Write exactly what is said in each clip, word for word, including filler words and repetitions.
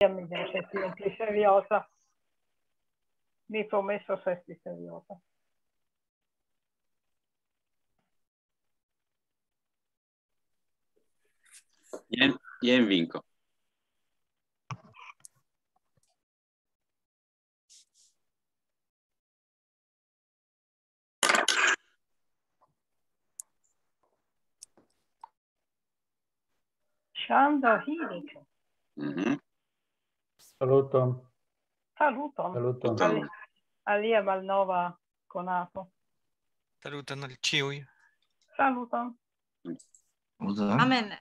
Mi devo esti pli serioza. Mi promeso esti serioza. Jen, jen vinko. Ŝanĝo Hirik. Mhm. Saluton. Saluton. Saluton. Ali- Alia malnova konato. Saluton al ĉiuj. Saluton. Amen.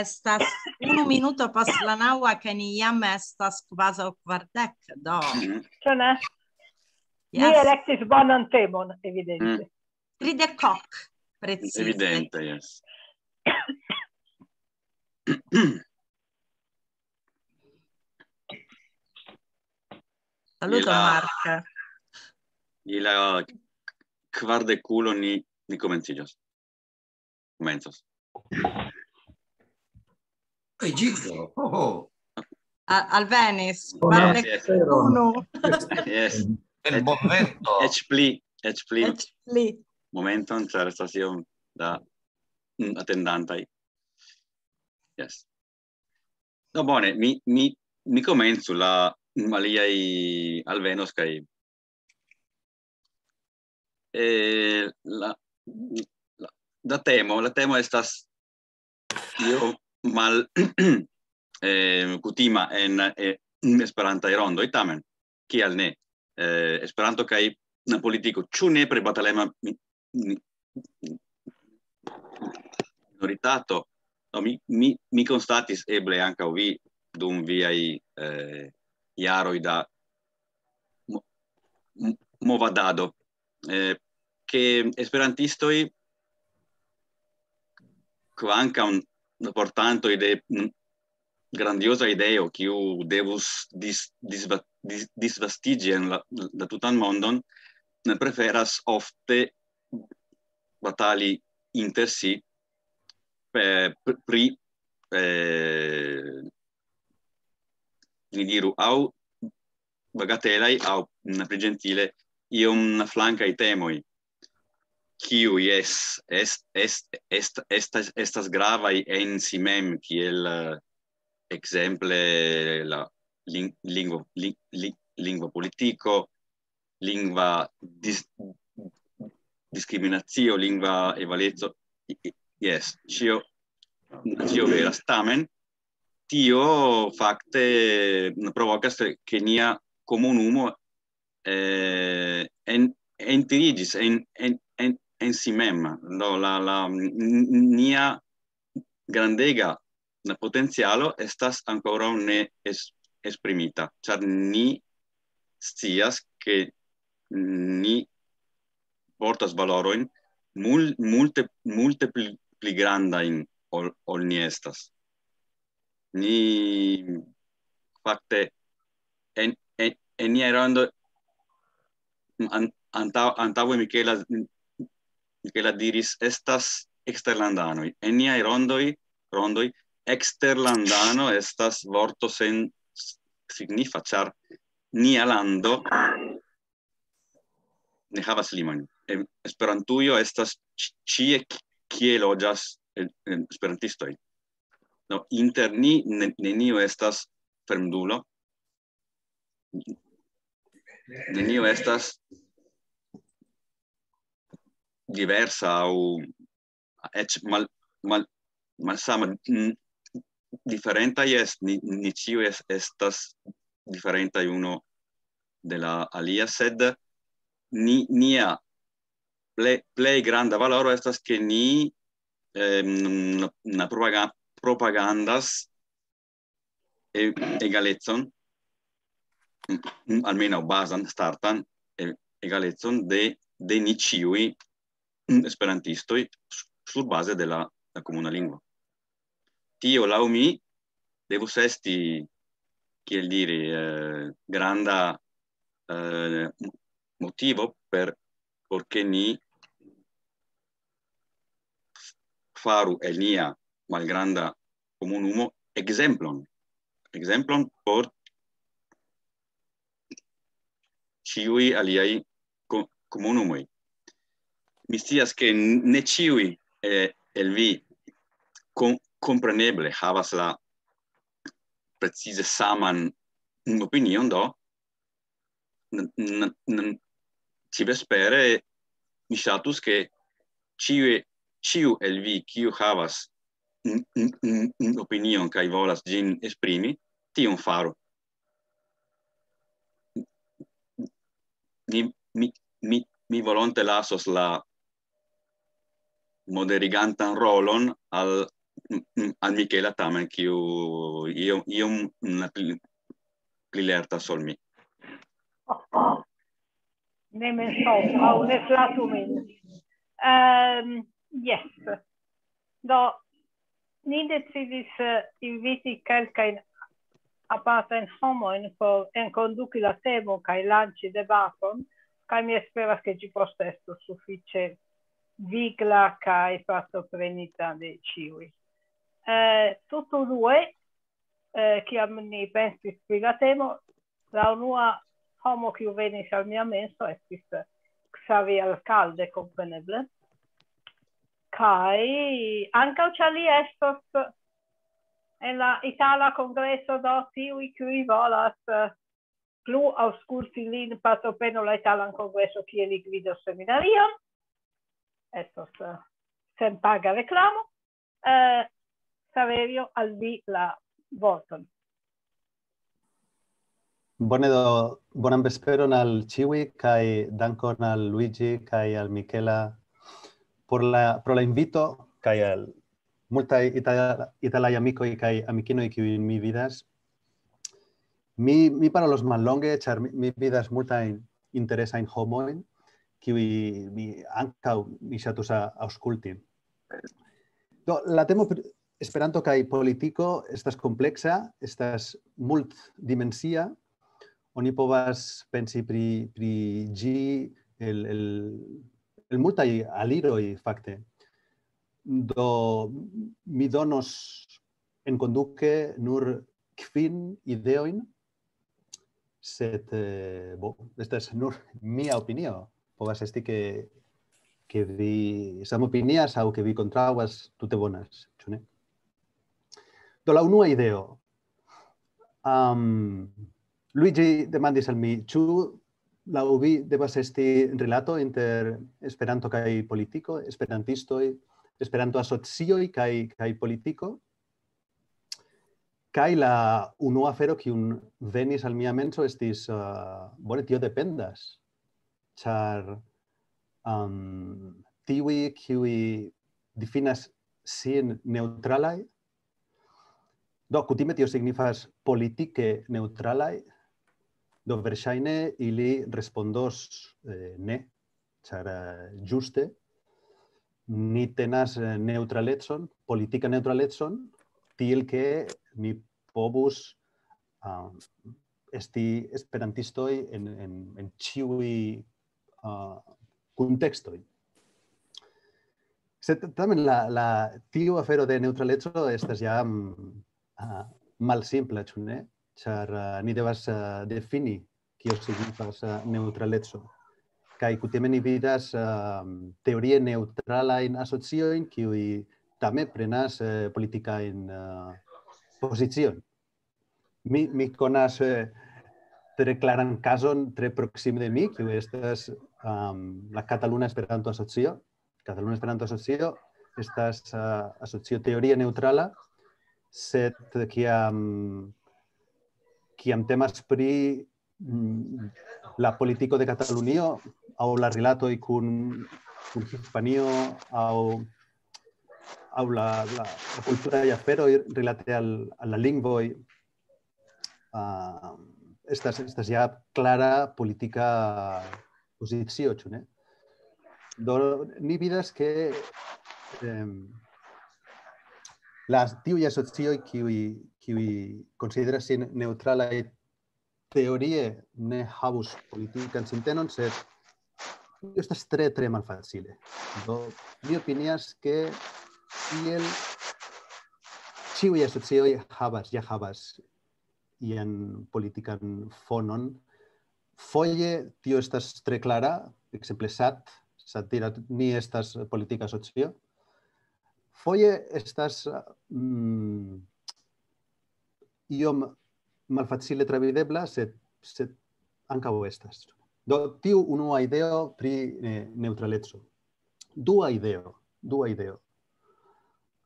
Estas unu minuto pas la naŭa, kaj ni jam estas kvazaŭ kvardek. Do, Mhm. Ĉu ne? Mi yes, elektis bonan temon, evidente. Mm. Tridek ok, precize. Evidente, yes. Saluton, Ila- Mark. Je la kvardekulo ni, ni komenciĝos. Komencos. Egidio, oh, oh. A- Alvenis, Bonan kvardek vesperon. unu. Yes. El momento. Eĉ pli, eĉ pli. Eĉ pli. Momenton, ĉar estas iom da, mm, atendantaj. Yes. No, bone, mi, mi, mi komencu, la, mm, aliaj alvenos kaj, eh, la, la, la temo, la temo estas io mal, eh, kutima en, eh, Esperantaj rondoj, tamen, kial ne? Eh, Esperanto kaj la politiko, ĉu nepre batalema mi-, mi-, minoritato? No, mi, mi, mi konstatis, eble ankaŭ vi, dum viaj, eh, jaroj da mo-, mo-, movadado, eh, ke esperantistoj, kvankam portantoj de, mm, grandioza ideo, kiu devus dis-, disva-, dis-, disvastiĝi en la, la tutan mondon, ne preferas ofte batali inter si pe-, pr-, pri, eh, ni diru, aŭ bagatelaj, aŭ, mm, pli ĝentile, iom flankaj temoj, kiuj es-, est-, est-, est-, estas, estas gravaj en si mem, kiel, eh, ekzemple la lin-, lingvo, li-, li-, lingva politiko, lingva dis-, diskriminacio, lingva egaleco. I-, i-, yes, ĉio, ĉio veras. Tamen, tio fakte provokas, ke nia komunumo, eh, en-, entiriĝis en, en, en, en si mem. Do la, la, n-, n-, nia grandega potencialo estas ankoraŭ ne es-, esprimita, ĉar ni scias, ke ni portas valorojn mul-, multe, multe pli, pli grandajn ol, ol ni estas. Ni fakte en, en, en niaj rondoj an-, antaŭ-, antaŭe Michela, Michela diris, estas eksterlandanoj. En niaj rondoj, rondoj, eksterlandano estas vorto sen s-, signifa, ĉar nia lando ne havas limojn. Em, Esperantujo estas ĉi-, ĉie, ki-, kie loĝas, eh, eh, esperantistoj. No, inter ni ne-, neniu estas fremdulo. Neniu estas diversa aŭ eĉ mal-, mal-, malsama. Mm, diferentaj es-, ni, ni ĉiuj es-, estas diferentaj uno de la alia, sed ni, nia plej, plej granda valoro estas, ke ni, em, na, na propaga-, propagandas e-, egalecon, mm, almenaŭ bazan, startan, e-, egalecon de, de ni ĉiuj, mm, esperantistoj s-, surbaze de la, la komuna lingvo. Tio, laŭ mi, devus esti, kiel diri, eh, granda, eh, motivo per, por ke ni faru el nia malgranda komunumo ekzemplon. Ekzemplon por ĉiuj aliaj ko-, komunumoj. Mi scias, ke ne ĉiuj, eh, el vi kom-, kompreneble havas la precize saman opinion, do n-, n-, n-, ĉi vespere mi ŝatus, ke ĉiuj, ĉiu el vi, kiu havas n-, n-, n-, n-, opinion kaj volas ĝin esprimi, tion faru. Mi, mi, mi, mi volonte lasos la moderigantan rolon al, al Michela, tamen, kiu iom, iom pli, pli lertas ol mi. Ne mensogu, aŭ ne flatu min. Um, yes. Do, ni decidis, eh, inviti kelkajn apartajn homojn por enkonduki la temo kaj lanĉi debaton, kaj mi esperas, ke ĝi poste estos sufiĉe vigla kaj partoprenita de ĉiuj. Eh, tutto due, eh, kiam ni pensis pri la temo, la unua homo, kiu venis al mia menso, estis, eh, Xavier Alcalde, kompreneble. Kaj ankaŭ ĉar li estos en la Itala Kongreso, do tiuj, kiuj volas, eh, plu aŭskulti lin, partoprenu la Italan Kongreso, kie li gvidos seminarion. Estos, eh, senpaga reklamo. Eh, Saverio, al vi la vorton. Bone do, bonan vesperon al ĉiuj, kaj dankon al Luigi kaj al Michela por la, pro la invito, kaj al multaj itala-, italaj amikoj kaj amikinoj, kiujn mi vidas. Mi, mi parolos mallonge, ĉar mi, mi vidas multajn interesajn homojn, kiuj mi ankaŭ mi ŝatus a-, aŭskulti. Do, la temo pri Esperanto kaj politiko estas kompleksa, estas multdimensia. Oni povas pensi pri, pri ĝi el, el, el multaj aliroj, fakte. Do, mi donos enkonduke nur kvin ideojn, sed, eh, bo, estas nur mia opinio. Povas esti, ke, ke vi samopinias aŭ ke vi kontraŭas, tute bonas, ĉu ne? Do, la unua ideo. Am, Luigi demandis al mi, ĉu laŭ vi devas esti rilato inter Esperanto kaj politiko, esperantistoj, Esperanto-asocioj kaj, kaj politiko? Kaj la unua afero, kiun venis al mia menso, estis, eh, bone, tio dependas, ĉar, am, tiuj, kiuj difinas sin neŭtralaj, do, kutime tio signifas politike neŭtralaj, do verŝajne ili respondos, eh, ne, ĉar, eh, ĝuste ni tenas, eh, neŭtralecon, politika neŭtralecon, tiel ke ni povus, ah, esti esperantistoj en, en, en ĉiuj, ah, kuntekstoj. Sed tamen la, la, tiu afero de neŭtraleco estas jam, ah, malsimpla, ĉu ne? Ĉar, ah, ni devas, ah, defini kio signifas, ah, neŭtraleco. Kaj kutime ni vidas, ah, teorie neŭtralajn asociojn, kiuj tamen prenas, eh, politikajn, ah, poziciojn. Mi, mi konas, eh, tre klaran kazon, tre proksime de mi, kiu estas, am, la Kataluna Esperanto-Asocio. Kataluna Esperanto-Asocio estas, ah, asocio teorie neŭtrala, sed kiam, kiam temas pri, mm, la politiko de Katalunio aŭ la rilatoj kun, kun Hispanio aŭ, aŭ la, la, la kulturaj aferoj rilate al, al la lingvoj, ah, estas, estas ja klara politika pozicio, ĉu ne? Do, ni vidas, ke, em, las, tiuj asocioj, kiuj, kiuj konsideras sin neŭtralaj, teorie ne havus politikan sintenon, sed tio estas tre, tre malfacile. Do, mi opinias, ke tiel ĉiuj asocioj havas, ja havas ian politikan fonon, Foje tio estas tre klara, ekzemple sat, sat diras, ni estas politika asocio. Foje estas mm, iom malfacile travidebla, sed, sed ankaŭ estas. Do, tiu unua ideo pri eh, neŭtraleco. Dua ideo, dua ideo.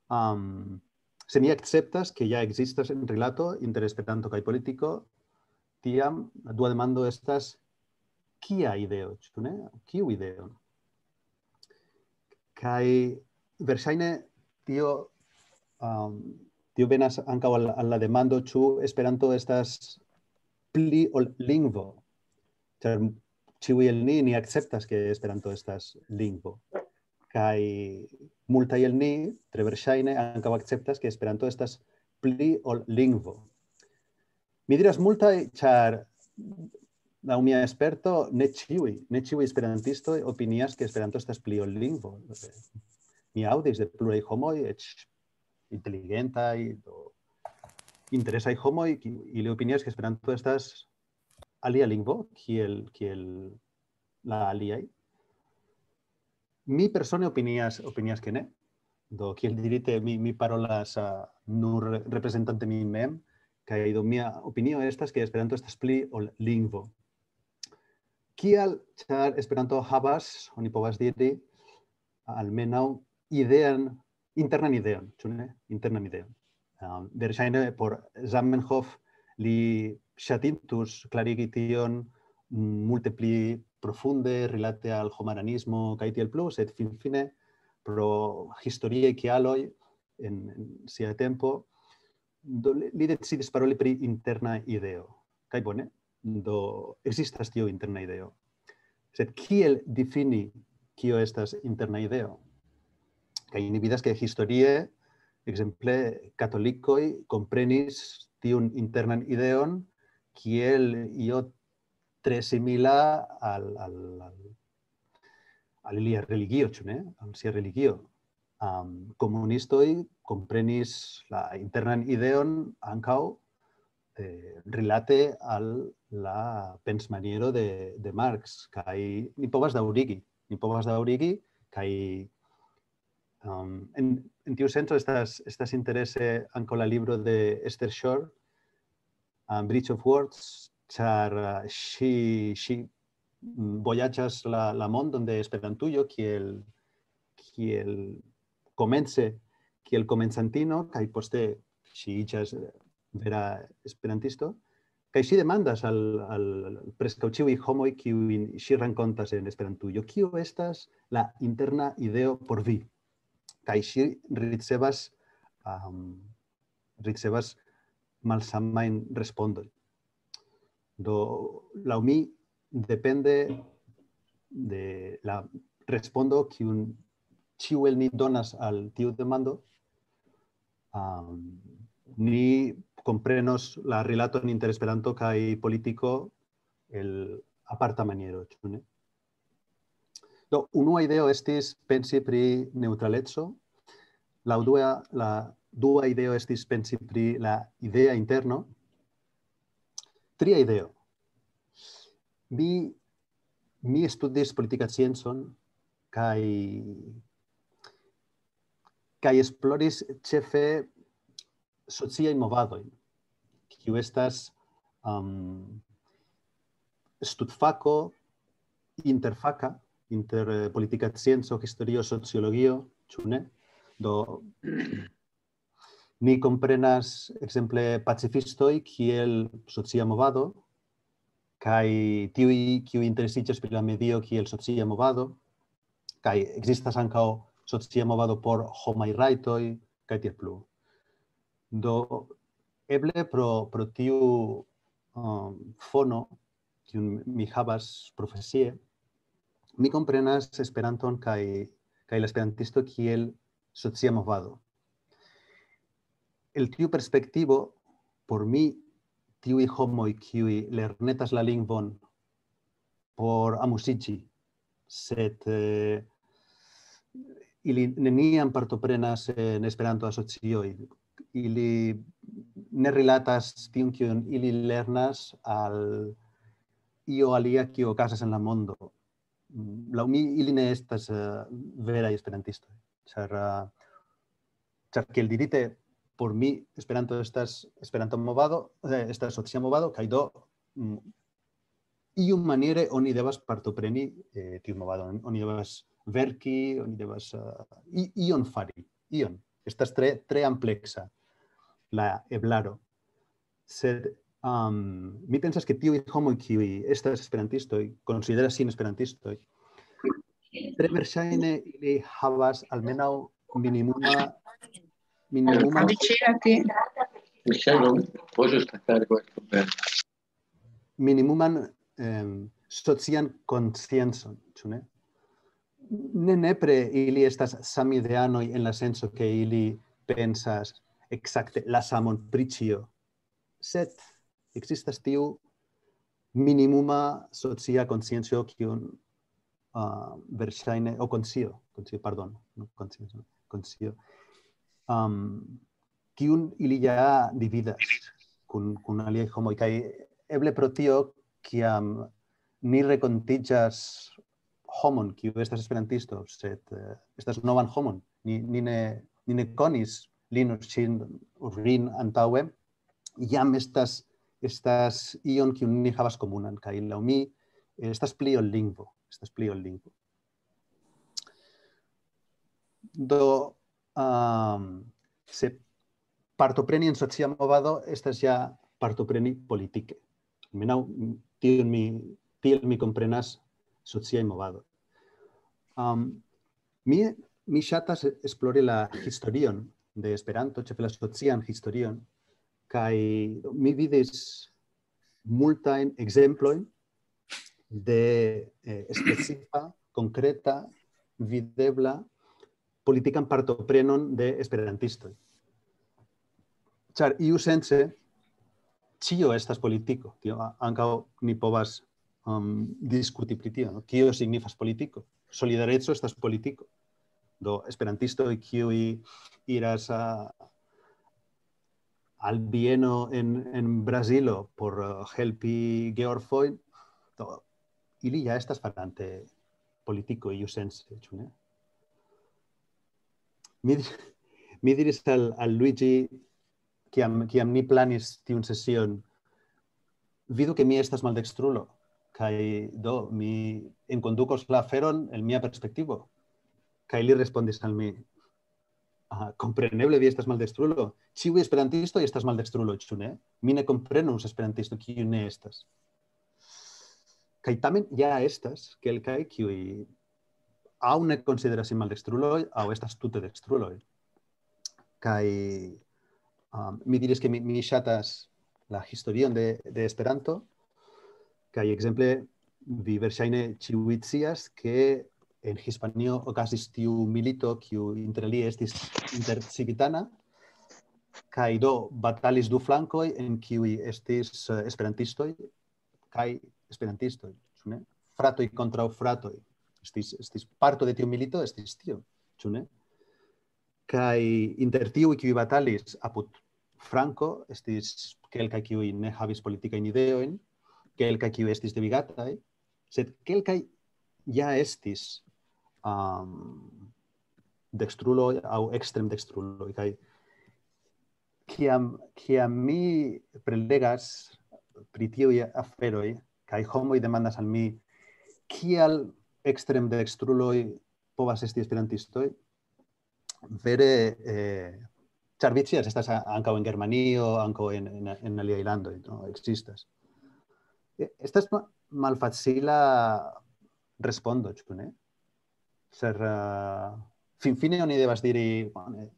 Um, se ni akceptas, ke ja ekzistas en rilato inter Esperanto kaj politiko, tiam la dua demando estas, kia ideo, ĉu ne? Kiu ideo? Kaj verŝajne tio, um, tio venas ankaŭ al, al la demando, ĉu Esperanto estas pli ol lingvo. Ĉar ĉiuj el ni, ni akceptas, ke Esperanto estas lingvo. Kaj multaj el ni, tre verŝajne, ankaŭ akceptas, ke Esperanto estas pli ol lingvo. Mi diras multaj, ĉar laŭ mia sperto, ne ĉiuj, ne ĉiuj esperantistoj opinias, ke Esperanto estas pli ol lingvo. Mi aŭdis de pluraj homoj, eĉ inteligentaj, do interesaj homoj, kiuj ili opinias, ke Esperanto estas alia lingvo, kiel, kiel la aliaj. Mi persone opinias, opinias ke ne. Do, kiel dirite, mi, mi parolas uh, nur reprezentante min mem, kaj do mia opinio estas, ke Esperanto estas pli ol lingvo. Kial? Ĉar Esperanto havas, oni povas diri, almenaŭ idean, internan ideon, ĉu ne? Internan ideon. Um, verŝajne por Zamenhof li ŝatintus klarigi tion multe pli profunde rilate al homaranismo kaj tiel plu, sed finfine pro historiaj kialoj en, en sia tempo, do, li decidis paroli pri interna ideo. Kaj bone, do ekzistas tio interna ideo. Sed kiel difini kio estas interna ideo? Kaj ni vidas, ke historie, ekzemple, katolikoj komprenis tiun internan ideon kiel io tre simila al, al, al, al ilia religio, ĉu ne? Al sia religio. Um, komunistoj komprenis la internan ideon ankaŭ eh, rilate al la pensmaniero de, de Marx. Kaj ni povas daŭrigi, ni povas daŭrigi, kaj um, en, en tiu senco estas, estas interese ankaŭ la libro de Esther Shore, uh, Bridge of Words, ĉar uh, ŝi, ŝi vojaĝas la, la mondon de Esperantujo kiel, kiel komence, kiel komencantino, kaj poste ŝi iĝas vera esperantisto. Kaj ŝi demandas al, al preskaŭ ĉiuj homoj, kiujn ŝi renkontas en Esperantujo, kio estas la interna ideo por vi? Kaj ŝi ricevas, um, ricevas malsamajn respondojn. Do, laŭ mi, depende de la respondo, kiun ĉiu el ni donas al tiu demando, um, ni komprenos la rilaton inter Esperanto kaj politiko el aparta maniero, ĉu ne? Do, unua ideo estis pensi pri neŭtraleco, la dua, la dua ideo estis pensi pri la idea interno. Tria ideo. Mi, mi studis politika sciencon kaj kaj esploris ĉefe sociaj movadoj, kiu estas um, studfako interfaka inter eh, politika scienco, historio, sociologio, ĉu ne? Do, ni komprenas, ekzemple, pacifistoj kiel socia movado, kaj tiuj, kiu interesiĝas pri la medio kiel socia movado, kaj ekzistas ankaŭ socia movado por homaj rajtoj, kaj tiel plu. Do, eble pro, pro tiu um, fono, kiun mi havas profesie, mi komprenas Esperanton kaj, kaj la esperantisto kiel socia movado. El tiu perspektivo, por mi, tiuj homoj, kiuj lernetas la lingvon por amuziĝi, sed eh, ili neniam partoprenas en Esperanto-asocioj. Ili ne rilatas tiun, kiun ili lernas, al io alia kio okazas en la mondo. Laŭ mi ili ne estas uh, veraj esperantistoj. Ĉar, uh, ĉar kiel dirite, por mi Esperanto estas Esperanto movado, eh, estas socia movado, kaj do mm, iu maniere oni devas partopreni eh, tiu movado. Oni devas verki, oni devas uh, ion fari, ion. Estas tre, tre ampleksa la eblaro. Sed um, mi pensas, ke tiuj homoj, kiuj estas esperantistoj, konsideras sin esperantistoj, tre verŝajne ili havas almenaŭ minimuma, minimuma, Michelle, ¿puedo estar cargo de comer? Minimuman eh, socian konsciencon, ĉu ne? Ne nepre ili estas samideanoj en la senso, ke ili pensas ekzakte la samon pri ĉio, sed ekzistas tiu minimuma socia konscienco, kiun uh, verŝajne, o konscio, konscio, pardon, konscio, konscio um, kiun ili ja dividas kun, kun aliaj homoj. Kaj eble pro tio, kiam ni rekontiĝas homon, kiu estas esperantisto, sed uh, estas novan homon, ni, ni, ne, ni ne konis lin ŝin rin antaŭe, jam estas, estas ion, kiun ni havas komunan, kaj laŭ mi estas pli ol lingvo, estas pli ol lingvo. Do, um, se partopreni en socia movado estas ja partopreni politike. Almenaŭ tiel mi, tiel mi komprenas sociaj movado. Um, mi, mi ŝatas esplori la historion de Esperanto, ĉefe la socian historion, kaj mi vidis multajn ekzemplojn de eh, specifa, konkreta, videbla politikan partoprenon de esperantistoj. Ĉar iu sense ĉio estas politiko. Tio ankaŭ ni povas um, diskuti pri tio, no? Kio signifas politiko? Solidareco estas politiko. Do esperantistoj, kiuj iras a, al Bieno en, en Brazilo por uh, helpi georfojn, do ili ja estas farante politiko iu sense, ĉu ne? Mi, mi diris al, al Luigi, kiam, kiam ni planis tiun sesion, vidu, ke mi estas maldekstrulo, kaj do mi enkondukos la aferon el mia perspektivo. Kaj li respondis al mi, ah, kompreneble vi estas maldekstrulo. Ĉiuj esperantistoj estas maldekstruloj, ĉu ne? Mi ne komprenus esperantisto, kiu ne estas. Kaj tamen ja estas kelkaj, kiuj aŭ ne konsideras sin maldekstruloj, aŭ estas tute dekstruloj. Kaj um, mi diris, ke mi, mi ŝatas la historion de, de Esperanto, kaj ekzemple vi verŝajne ĉiuj scias, ke en Hispanio okazis tiu milito, kiu inter alie estis intercivitana, kaj do batalis du flankoj, en kiuj estis uh, esperantistoj kaj esperantistoj, ĉu ne? Fratoj kontraŭ fratoj. Estis, estis parto de tiu milito, estis tio, ĉu ne? Kaj inter tiuj, kiuj batalis apud Franco, estis kelkaj, kiuj ne havis politikajn ideojn, kelkaj, kiuj estis devigataj, sed kelkaj ja estis um, dekstruloj aŭ ekstremdekstruloj. Kaj kiam, kiam mi prelegas pri tiuj aferoj, kaj homoj demandas al mi, kial ekstremdekstruloj povas esti esperantistoj, vere, eh, ĉar vi scias, estas ankaŭ en Germanio, ankaŭ en, en, en aliaj landoj, no? Ekzistas. Estas malfacila respondo, ĉu ne? Sed uh, finfine oni devas diri, bone,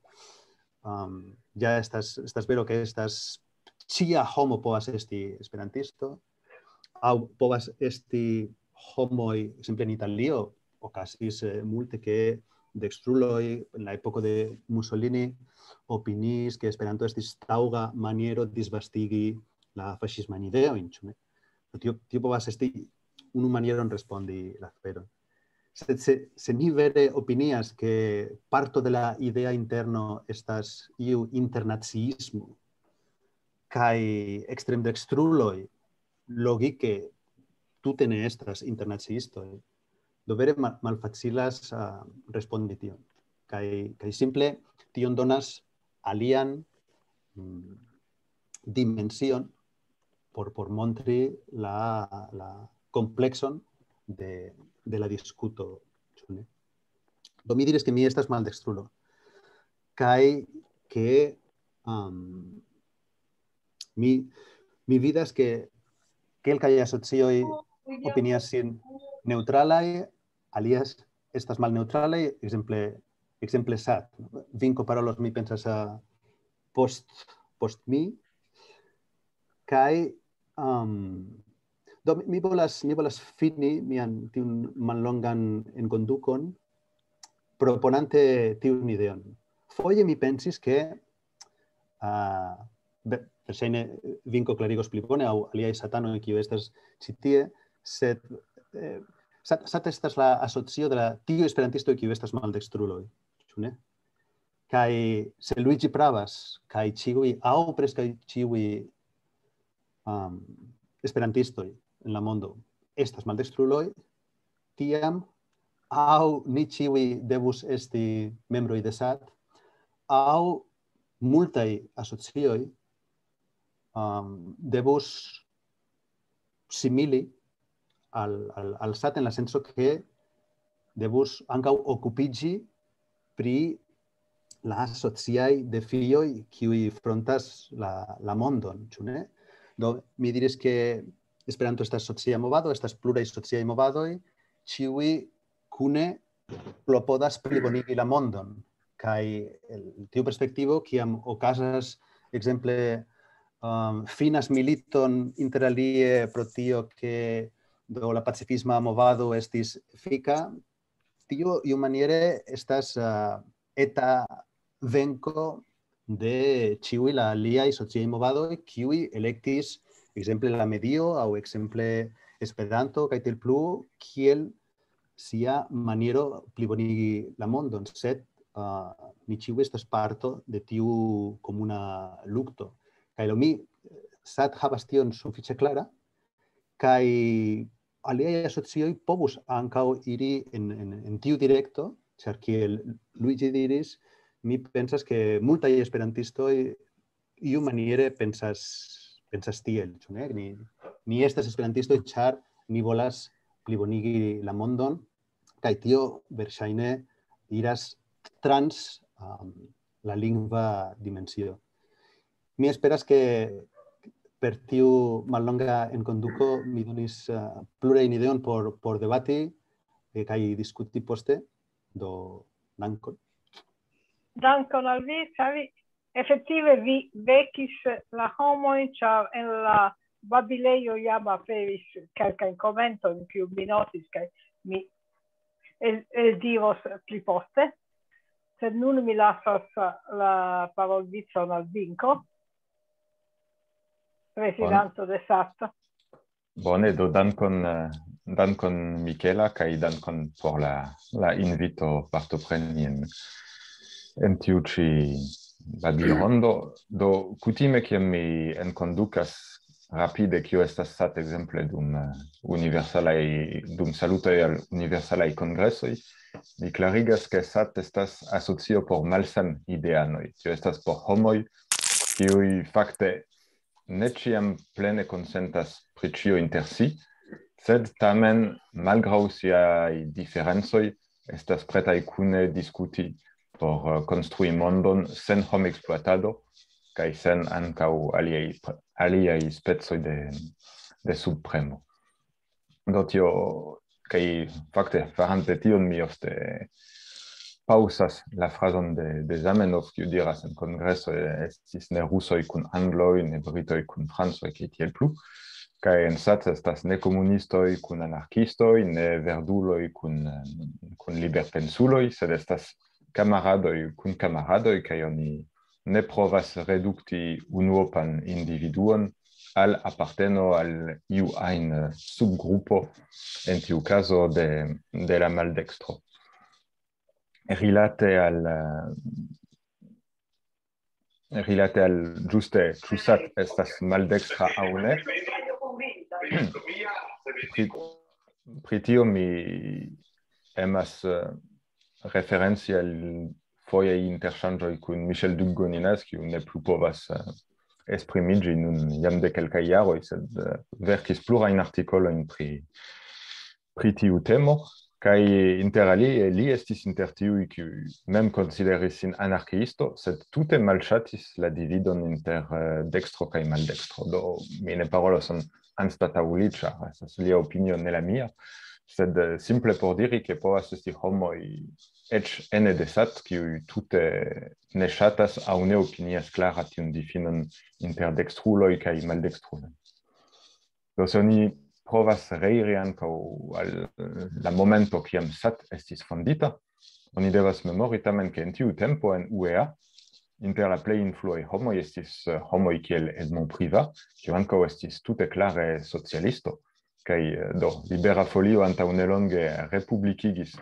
um, ja estas, estas vero, ke estas, ĉia homo povas esti esperantisto, aŭ povas esti homoj, ekzemple en Italio, okazis eh, multe, ke dekstruloj en la epoko de Mussolini opiniis, ke Esperanto estis taŭga maniero disvastigi la faŝismajn ideojn, ĉu ne? Tio, tio povas esti unu manieron respondi la aferon. Sed se, se mi vere opinias, ke parto de la idea interno estas iu internaciismo, kaj ekstremdekstruloj logike tute ne estas internaciistoj. Do vere mal, malfacilas uh, respondi tion. Kaj, kaj simple tion donas alian mm, dimension por, por montri la, la complexon de, de la discuto. Ĉu ne? Do mi diris ke mi estas maldekstrulo. Kaj ke um, mi, mi vidas ke kelkaj asocioj opinias sin neutralaj, alias estas malneutralaj, ekzemple, ekzemple sat. Vinko parolos, mi pensas, uh, post, post mi. Kaj um, do mi volas, mi volas fini mian tiun mallongan enkondukon proponante tiun ideon. Foje mi pensis ke uh, verŝajne Vinko klarigos pli bone aŭ aliaj satanoj kiu estas ĉi tie, sed eh, sat, sat estas la asocio de la tiu esperantisto kiu estas maldekstruloj, ĉu ne? Kaj se Luigi pravas, kaj ĉiuj aŭ preskaŭ ĉiuj um, esperantistoj en la mondo estas maldekstruloj, tiam aŭ ni ĉiuj devus esti membroj de sat, aŭ multaj asocioj um, devus simili al, al, al sat en la senso ke devus ankaŭ okupiĝi pri la sociaj defioj kiuj frontas la, la mondon, ĉu ne? Do mi diris ke Esperanto estas socia movado, estas pluraj sociaj movadoj, ĉiuj kune klopodas plibonigi la mondon. Kaj el tiu perspektivo, kiam okazas, ekzemple, um, finas militon interalie pro tio ke do la pacifisma movado estis fika, tio iumaniere estas uh, eta venko de ĉiuj la aliaj sociaj movadoj, kiuj elektis, ekzemple, la medio aŭ ekzemple Esperanto kaj tiel plu, kiel sia maniero plibonigi la mondon, sed uh, ni ĉiuj estas parto de tiu komuna lukto. Kaj lo mi, sat havas tion sufiĉe klara, kaj aliaj asocioj povus ankaŭ iri en, en, en tiu direkto, ĉar kiel Luigi diris, mi pensas ke multaj esperantistoj iu maniere pensas, pensas tiel, ĉu ne? Ni, ni estas esperantistoj, ĉar ni volas plibonigi la mondon, kaj tio verŝajne iras trans um, la lingva dimensio. Mi esperas ke per tiu mallonga enkonduko mi donis uh, plurajn ideon por, por debati eh, kaj diskuti poste. Do, dankon. Dankon al vi, Xavi. Efektive vi vekis la homojn, ĉar en la babilejo jam aperis kelkajn komentojn, kiu mi notis, kaj mi eldiros pli poste. Sed nun mi lasas la parolvicon al Vinko, prezidanto de sat. Bone, do dankon, eh, dankon Michela, kaj dankon por la, la invito partopreni en, en tiu ĉi babilrondo. Do kutime, kiam mi enkondukas rapide, kio estas sat ekzemple dum eh, universalaj, dum salutoj al universalaj kongresoj, mi klarigas, ke sat estas asocio por malsan ideanoj. Tio estas por homoj, kiuj fakte ne ĉiam plene konsentas pri ĉio inter si, sed tamen, malgraŭ siaj diferencoj, estas pretaj kune diskuti por eh, konstrui mondon sen homekspluatado kaj sen ankaŭ aliaj, aliaj specoj de, de subpremo. Do tio, kaj fakte, farante tion, mi ofte paŭsas la frazon de, de Zamenhof, kiu diras en kongreso, eh, estis ne rusoj kun angloj, ne britoj kun francoj, kaj tiel plu. Kaj en sat estas ne komunistoj kun anarkistoj, ne verduloj kun, eh, kun liberpensuloj, sed estas kamaradoj kun kamaradoj, kaj oni ne provas redukti unuopan individuon al aparteno al iu ajn subgrupo, en tiu kazo de, de la maldekstro. Rilate al, eh, rilate al ĝuste, ĉu sat estas maldekstra aŭ ne. pri, pri tio mi emas eh, referenci al foje interŝanĝoj kun Michel Duc-Goninas, kiu ne plu povas eh, esprimiĝi nun jam de kelkaj jaroj, sed eh, verkis plurajn artikolojn pri, pri tiu temo. Kaj inter alie li estis inter tiuj, kiuj mem konsideris sin anarkiisto, sed tute malŝatis la dividon inter eh, dekstro kaj maldekstro. Do mi ne parolos an anstataŭ li, ĉar estas lia opinio, ne la mia, sed eh, simple por diri, ke povas esti homoj eĉ ene de sat, kiuj tute ne ŝatas aŭ ne opinias klare tiun difinon inter dekstruloj kaj maldekstruloj. Do se oni provas reiri ankaŭ al la momento, kiam sat estis fondita, oni devas memori tamen, ke en tiu tempo en U E A inter la plej influaj homoj estis eh, homoj kiel Edmond Privat, kiu ankaŭ estis tute klare socialisto, kaj eh, do Libera Folio antaŭ nelonge republikigis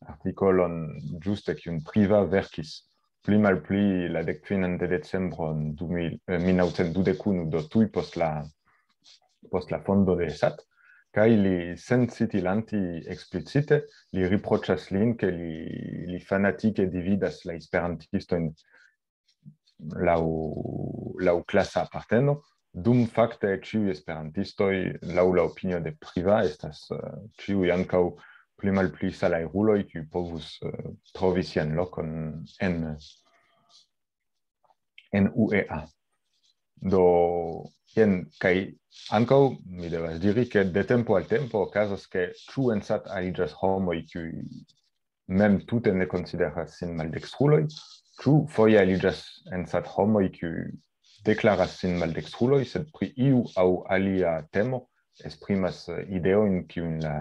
artikolon ĝuste kiun Privat verkis pli malpli la dekfinan de decembro en du mil, eh, mil naŭcent dudek unu, do tuj post la, post la fondo de sat, kaj li, sen citi Lanti eksplicite, li riproĉas lin, ke li, li fanatike dividas la esperantistojn laŭ, laŭ klasa aparteno, dum fakte ĉiuj esperantistoj, laŭ la opinio de Privat, estas eh, ĉiuj ankaŭ pli malpli salajruloj, kiuj povus eh, trovi sian lokon en, en U E A. Do, jen, kaj ankaŭ mi devas diri, ke de tempo al tempo okazas, ke ĉu en sat aliĝas homoj, kiuj mem tute ne konsideras sin maldekstruloj, ĉu foje aliĝas en sat homoj, kiuj deklaras sin maldekstruloj, sed pri iu aŭ alia temo esprimas eh, ideojn, kiujn la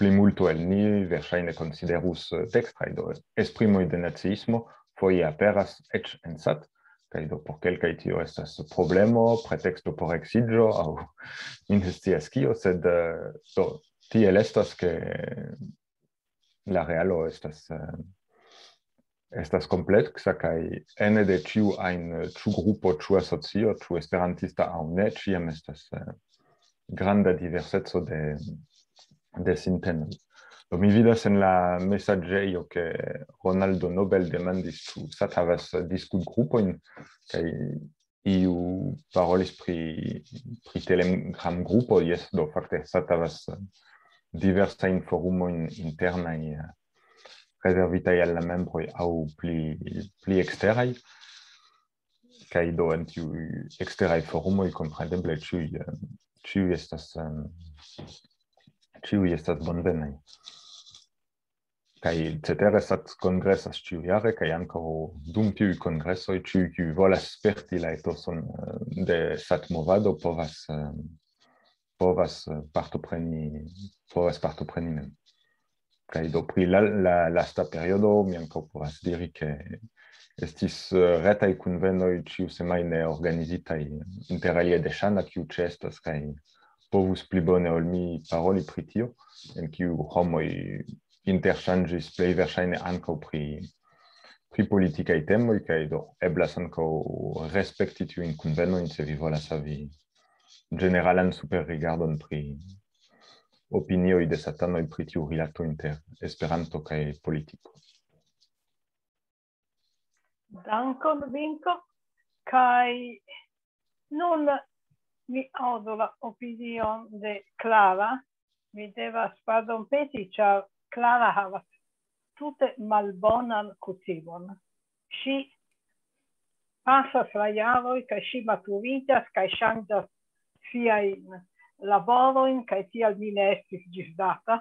plimulto el ni verŝajne konsiderus eh, dekstraj. Do, esprimoj de naciismo foje aperas eĉ en sat, kaj do por kelkaj tio estas problemo, preteksto por eksiĝo aŭ mi ne scias kio, sed eh, do, tiel estas, ke la realo estas eh, estas kompleksa, kaj ene de ĉiu ajn eh, ĉu grupo, ĉu asocio, ĉu esperantista aŭ ne, ĉiam estas eh, granda diverseco de, de sintenoj. Do mi vidas en la mesaĝejo, ke Ronaldo Nobel demandis, ĉu sat havas diskutgrupojn, kaj iu parolis pri, pri Telegram-grupo, jes, do fakte sat havas diversajn forumojn internaj eh, rezervitaj al la membroj aŭ pli, pli eksteraj. Kaj do en tiuj eksteraj forumoj kompreneble ĉiuj, eh, ĉiuj estas, eh, ĉiuj estas bonvenaj. Kaj cetere sat kongresas ĉiujare, kaj ankaŭ dum tiuj kongresoj ĉiuj, kiuj volas sperti la etoson eh, de sat-movado, povas, eh, povas eh, partopreni, povas partopreni mem. Kaj do pri la, la lasta periodo, mi ankaŭ povas diri, ke estis eh, retaj kunvenoj ĉiusemajne organizitaj, inter alie de Ŝana, kiu ĉeestas kaj povus pli bone ol mi paroli pri tio, en kiu homoj interŝanĝis plej verŝajne ankaŭ pri, pri politikaj temoj, kaj do eblas ankaŭ respekti tiujn kunvenojn, se vi volas havi ĝeneralan superrigardon pri opinioj de satanoj pri tiu rilato inter Esperanto kaj politiko. Dankon, Vinko. Kaj nun mi aŭdu la opinion de Clara. Mi devas pardonpeti, ĉar Clara havas tute malbonan kutimon. Ŝi pasas la jaroj, kaj ŝi maturiĝas, kaj ŝanĝas siajn laborojn, kaj tial mi ne estis ĝisdata.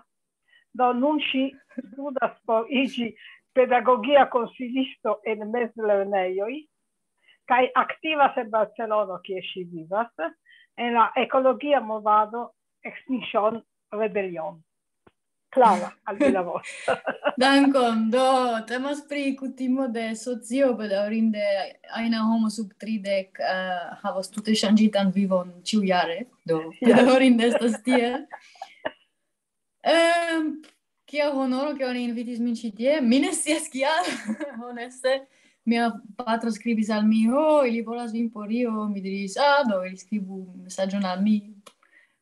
Do nun ŝi studas por iĝi pedagogia konsilisto en mezlernejoj, kaj aktivas en Barcelono, kie ŝi vivas, en la ekologia movado Extinction Rebellion. Clara, al vi la voĉo. Dankon. Do, temas pri kutimo de socio, bedaŭrinde ajna homo sub tridek eh, havas tute ŝanĝitan vivon ĉiujare. Do, bedaŭrinde estas tiel. Ehm, kia honoro, ke oni invitis min ĉi tie. Mi ne scias kial, honeste. Mia patro skribis al mi, "Ho, ili volas vin por io." Mi diris, "Ah, do, ili skribu mesaĝon al mi."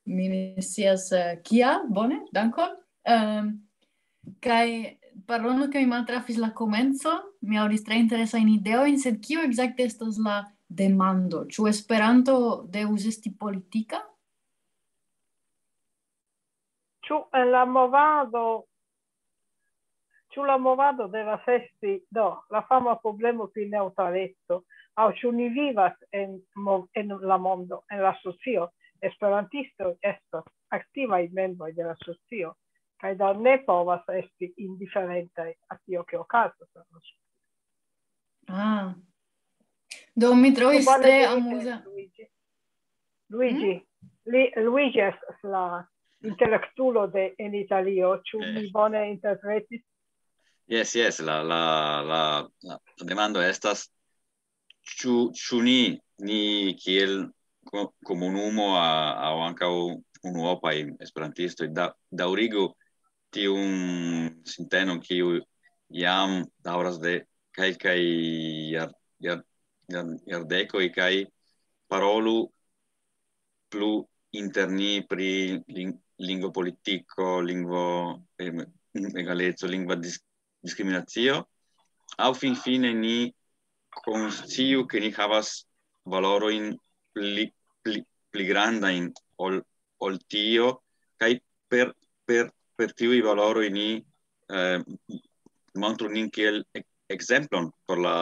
mi ne scias, eh, kial, bone, dankon. Ehm, kaj pardono, ke mi maltrafis la komenco, mi aŭdis tre interesajn ideojn, sed kio ekzakte estas la demando? Ĉu Esperanto devus esti politika? Ĉu en la movado, ĉu la movado devas esti, do, la fama problemo pri neŭtraleco, aŭ ĉu ni vivas en mo-, en la mondo, en la socio, esperantistoj estas aktivaj membroj de la socio, kaj do ne povas esti indiferentaj a tio, ke okazas en la socio. Ah. Do mi trovis Bone tre dirite, amuza. Luigi. Luigi, li, Luigi estas la intelektulo de en Italio, ĉu Eh. mi bone interpretis? Jes, jes, la, la, la, la demando estas, ĉu, ĉu ni, ni kiel ko-, komunumo a-, aŭ ankaŭ unuopaj esperantistoj da-, daŭrigu tiun sintenon, kiu jam daŭras de kelkaj jar-, jar-, jar-, jardekoj, kaj parolu plu inter ni pri ling-, lingvopolitiko, lingvo, em, egaleco, lingva dis-, diskriminacio, aŭ finfine ni konsciu, ke ni havas valorojn pli, pli, pli grandajn ol, ol tio, kaj per, per, per tiuj valoroj ni, eh, montru nin kiel ek-, ekzemplon por la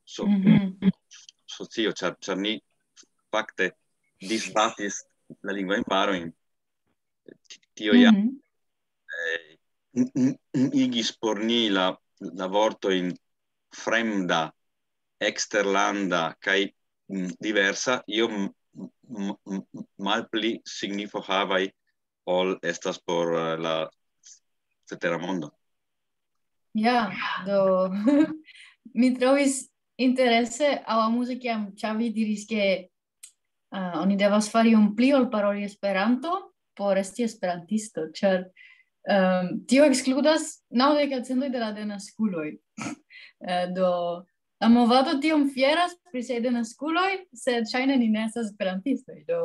so-, Mhm. socio, ĉar, ĉar ni fakte disbatis la lingvajn barojn. Ti-, tio ja, Mhm. eh, n-, n-, n-, igis por ni la, la vortojn fremda, eksterlanda kaj, mm, diversa, io m-, m-, m-, malpli signifo havaj ol estas por, eh, la cetera mondo. Ja, do mi trovis interese aŭ amuze, kiam Xavi diris, ke, ah, oni devas fari iom pli ol paroli Esperanto por esti esperantisto, ĉar, ehm, tio ekskludas naŭdek procentoj de la denaskuloj. Eh, do la movado tiom fieras pri siaj denaskuloj, sed ŝajne ni ne estas esperantistoj. Do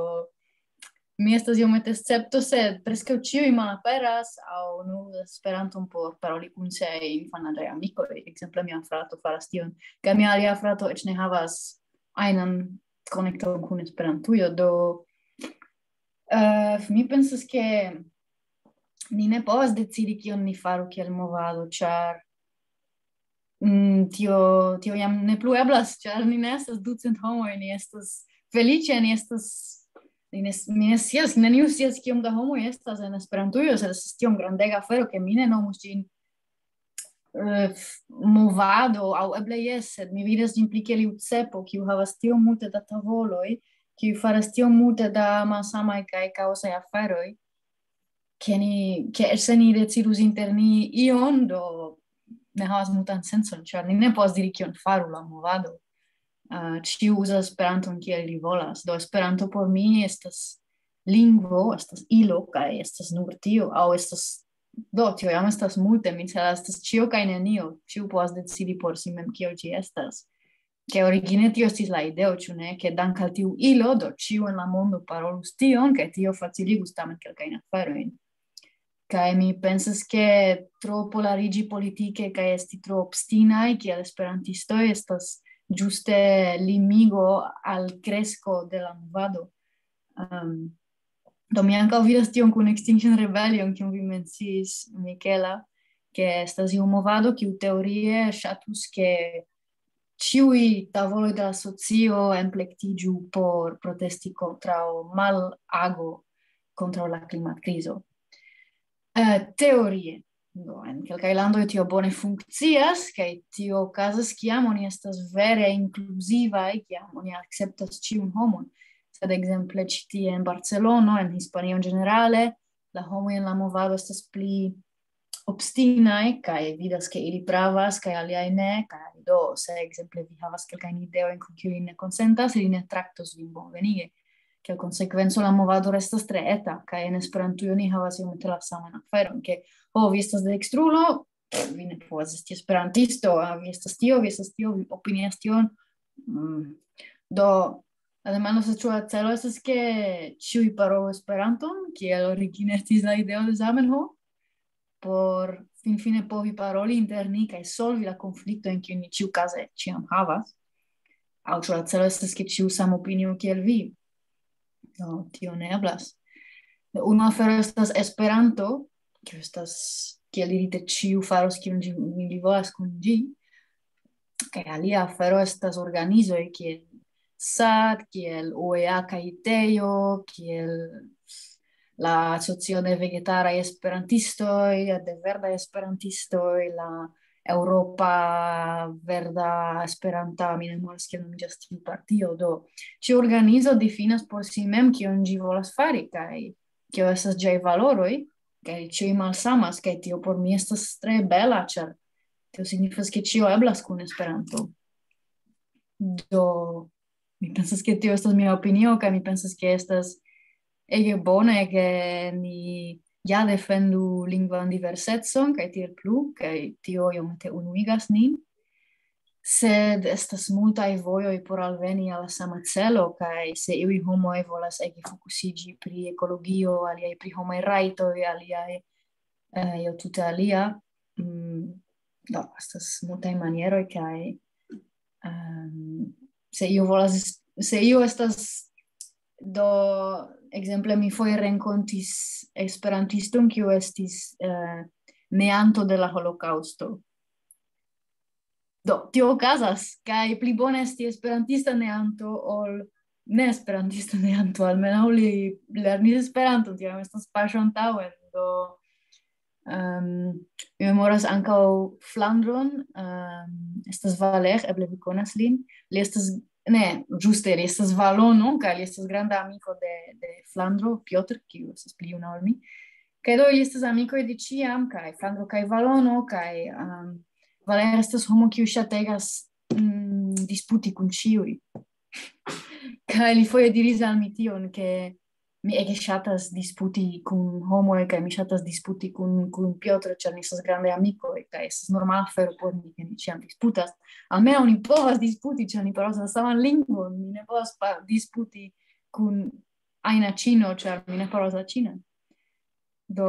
mi estas iomete escepto, sed preskaŭ ĉiuj malaperas aŭ ne uzas Esperanton por paroli kun siaj infanadaj amikoj. Ekzemple, mia frato faras tion, kaj mia alia frato eĉ ne havas ajnan konekton kun Esperantujo. Do, eh, mi pensas, ke ni ne povas decidi, kion ni faru kiel movado, ĉar, mm, tio, tio jam ne plu eblas, ĉar ni ne estas ducent homoj, ni estas feliĉe, ni estas, ni ne, mi ne scias, neniu scias, kiom da homoj estas en Esperantujo, sed estas tiom grandega afero, ke mi ne nomus ĝin, eh, f-, movado, aŭ eble jes, sed mi vidas ĝin pli kiel iu cepo, kiu havas tiom multe da tavoloj, kiu faras tiom multe da malsamaj kaj kaosaj aferoj, ke ni, ke eĉ se ni decidus inter ni ion, do ne havas multan sencon, ĉar ni ne povas diri, kion faru la movado. Ah, ĉiu uzas Esperanton kiel li volas. Do Esperanto por mi estas lingvo, estas ilo, kaj estas nur tio, aŭ estas, do, tio jam estas multe, mi celas, estas ĉio kaj nenio, ĉiu povas decidi por si mem, kio ĝi estas. Ke origine tio estis la ideo, ĉu ne, ke dank al tiu ilo, do, ĉiu en la mondo parolus tion, kaj tio faciligus tamen kelkajn aferojn. Kaj mi pensas, ke tro polariĝi politike kaj esti tro obstinaj kiel esperantistoj estas ĝuste limigo al kresko de la movado. Ehm, do mi ankaŭ vidas tion kun Extinction Rebellion, kiun vi menciis, Michaela, ke estas iu movado, kiu teorie ŝatus, ke ĉiuj tavoloj de la socio enplektiĝu por protesti kontraŭ malago, kontraŭ la klimatkrizo. Eh, teorie. Do, en kelkaj landoj tio bone funkcias, kaj tio okazas, kiam oni estas vere inkluzivaj, kiam oni akceptas ĉiun homon. Sed ekzemple ĉi tie en Barcelono, en Hispanio ĝenerale, la homoj en la movado estas pli obstinaj, kaj vidas, ke ili pravas, kaj aliaj ne, kaj do, se ekzemple vi havas kelkajn ideojn, kun kiuj ili ne konsentas, ili ne traktos vin bonvenige. Kiel konsekvenco, la movado restas tre eta, kaj en Esperantujo ni havas iomete la saman aferon, ke, ho, vi estas dekstrulo, vi ne povas esti esperantisto, ah, vi estas tio, vi estas tio, vi opinias tion. Mm. Do, La demando estas, ĉu la celo estas, ke ĉiuj parolu Esperanton, kiel origine estis la ideo de Zamenhof, por finfine povi paroli inter ni kaj solvi la konfliktojn, kiujn ni ĉiukaze ĉiam havas. Aŭ ĉu la celo estas, ke ĉiu sama opinio kiel vi? No, tio ne eblas. Unu afero estas Esperanto, kiu estas, kiel dirite, ĉiu faros kion ĝi, li volas kun ĝi. Kaj alia afero estas organizoj kiel sad, kiel U E A kaj Tejo, kiel la Asocio de Vegetaraj Esperantistoj, de Verdaj Esperantistoj, la Eŭropa Verda Esperanta, mi ne memoras kiel nomiĝas tiu partio, do ĉiu organizo difinas por si mem kion ĝi volas fari kaj kio estas ĝiaj valoroj, kaj ĉiuj malsamas, kaj tio por mi estas tre bela, ĉar tio signifas, ke ĉio eblas kun Esperanto. Do, mi pensas, ke tio estas mia opinio, kaj mi pensas, ke estas ege bone, ke ni ja defendu lingvan diversecon, kaj tiel plu, kaj tio iomete unuigas nin. Sed estas multaj vojoj por alveni al la sama celo, kaj se iuj homoj volas ege fokusiĝi pri ekologio, aliaj pri homaj rajtoj, aliaj, eh, io tute alia. Mm, do, estas multaj manieroj, kaj, ehm, se io volas, se io estas, do, ekzemple, mi foje renkontis esperantiston, kiu estis, eh, neanto de la holokaŭsto. Do, tio okazas, kaj pli bone esti esperantista neanto ol ne esperantista neanto, almenaŭ li lernis Esperanton, tiam estas paŝo antaŭen. Do, ehm, mi memoras ankaŭ Flandron, ehm, estas Valer, eble vi konas lin. Li estas, ne, ĝuste, li estas valono, kaj li estas granda amiko de, de Flandro, Piotr, kiu estas pli juna ol mi. Kaj do, ili estas amikoj de ĉiam, kaj Flandro kaj Valono, kaj, ehm, Valer estas homo, kiu ŝategas, mm, disputi kun ĉiuj. Kaj li foje diris al mi tion, ke mi ege ŝatas disputi kun homoj, kaj mi ŝatas disputi kun, kun Piotr, ĉar ni estas grandaj amikoj, kaj estas normala afero por ni, ke ni ĉiam disputas. Almenaŭ ni povas disputi, ĉar ni parolas la saman lingvon. Mi ne povas pa-, disputi kun ajna ĉino, ĉar mi ne parolas la ĉinan. Do,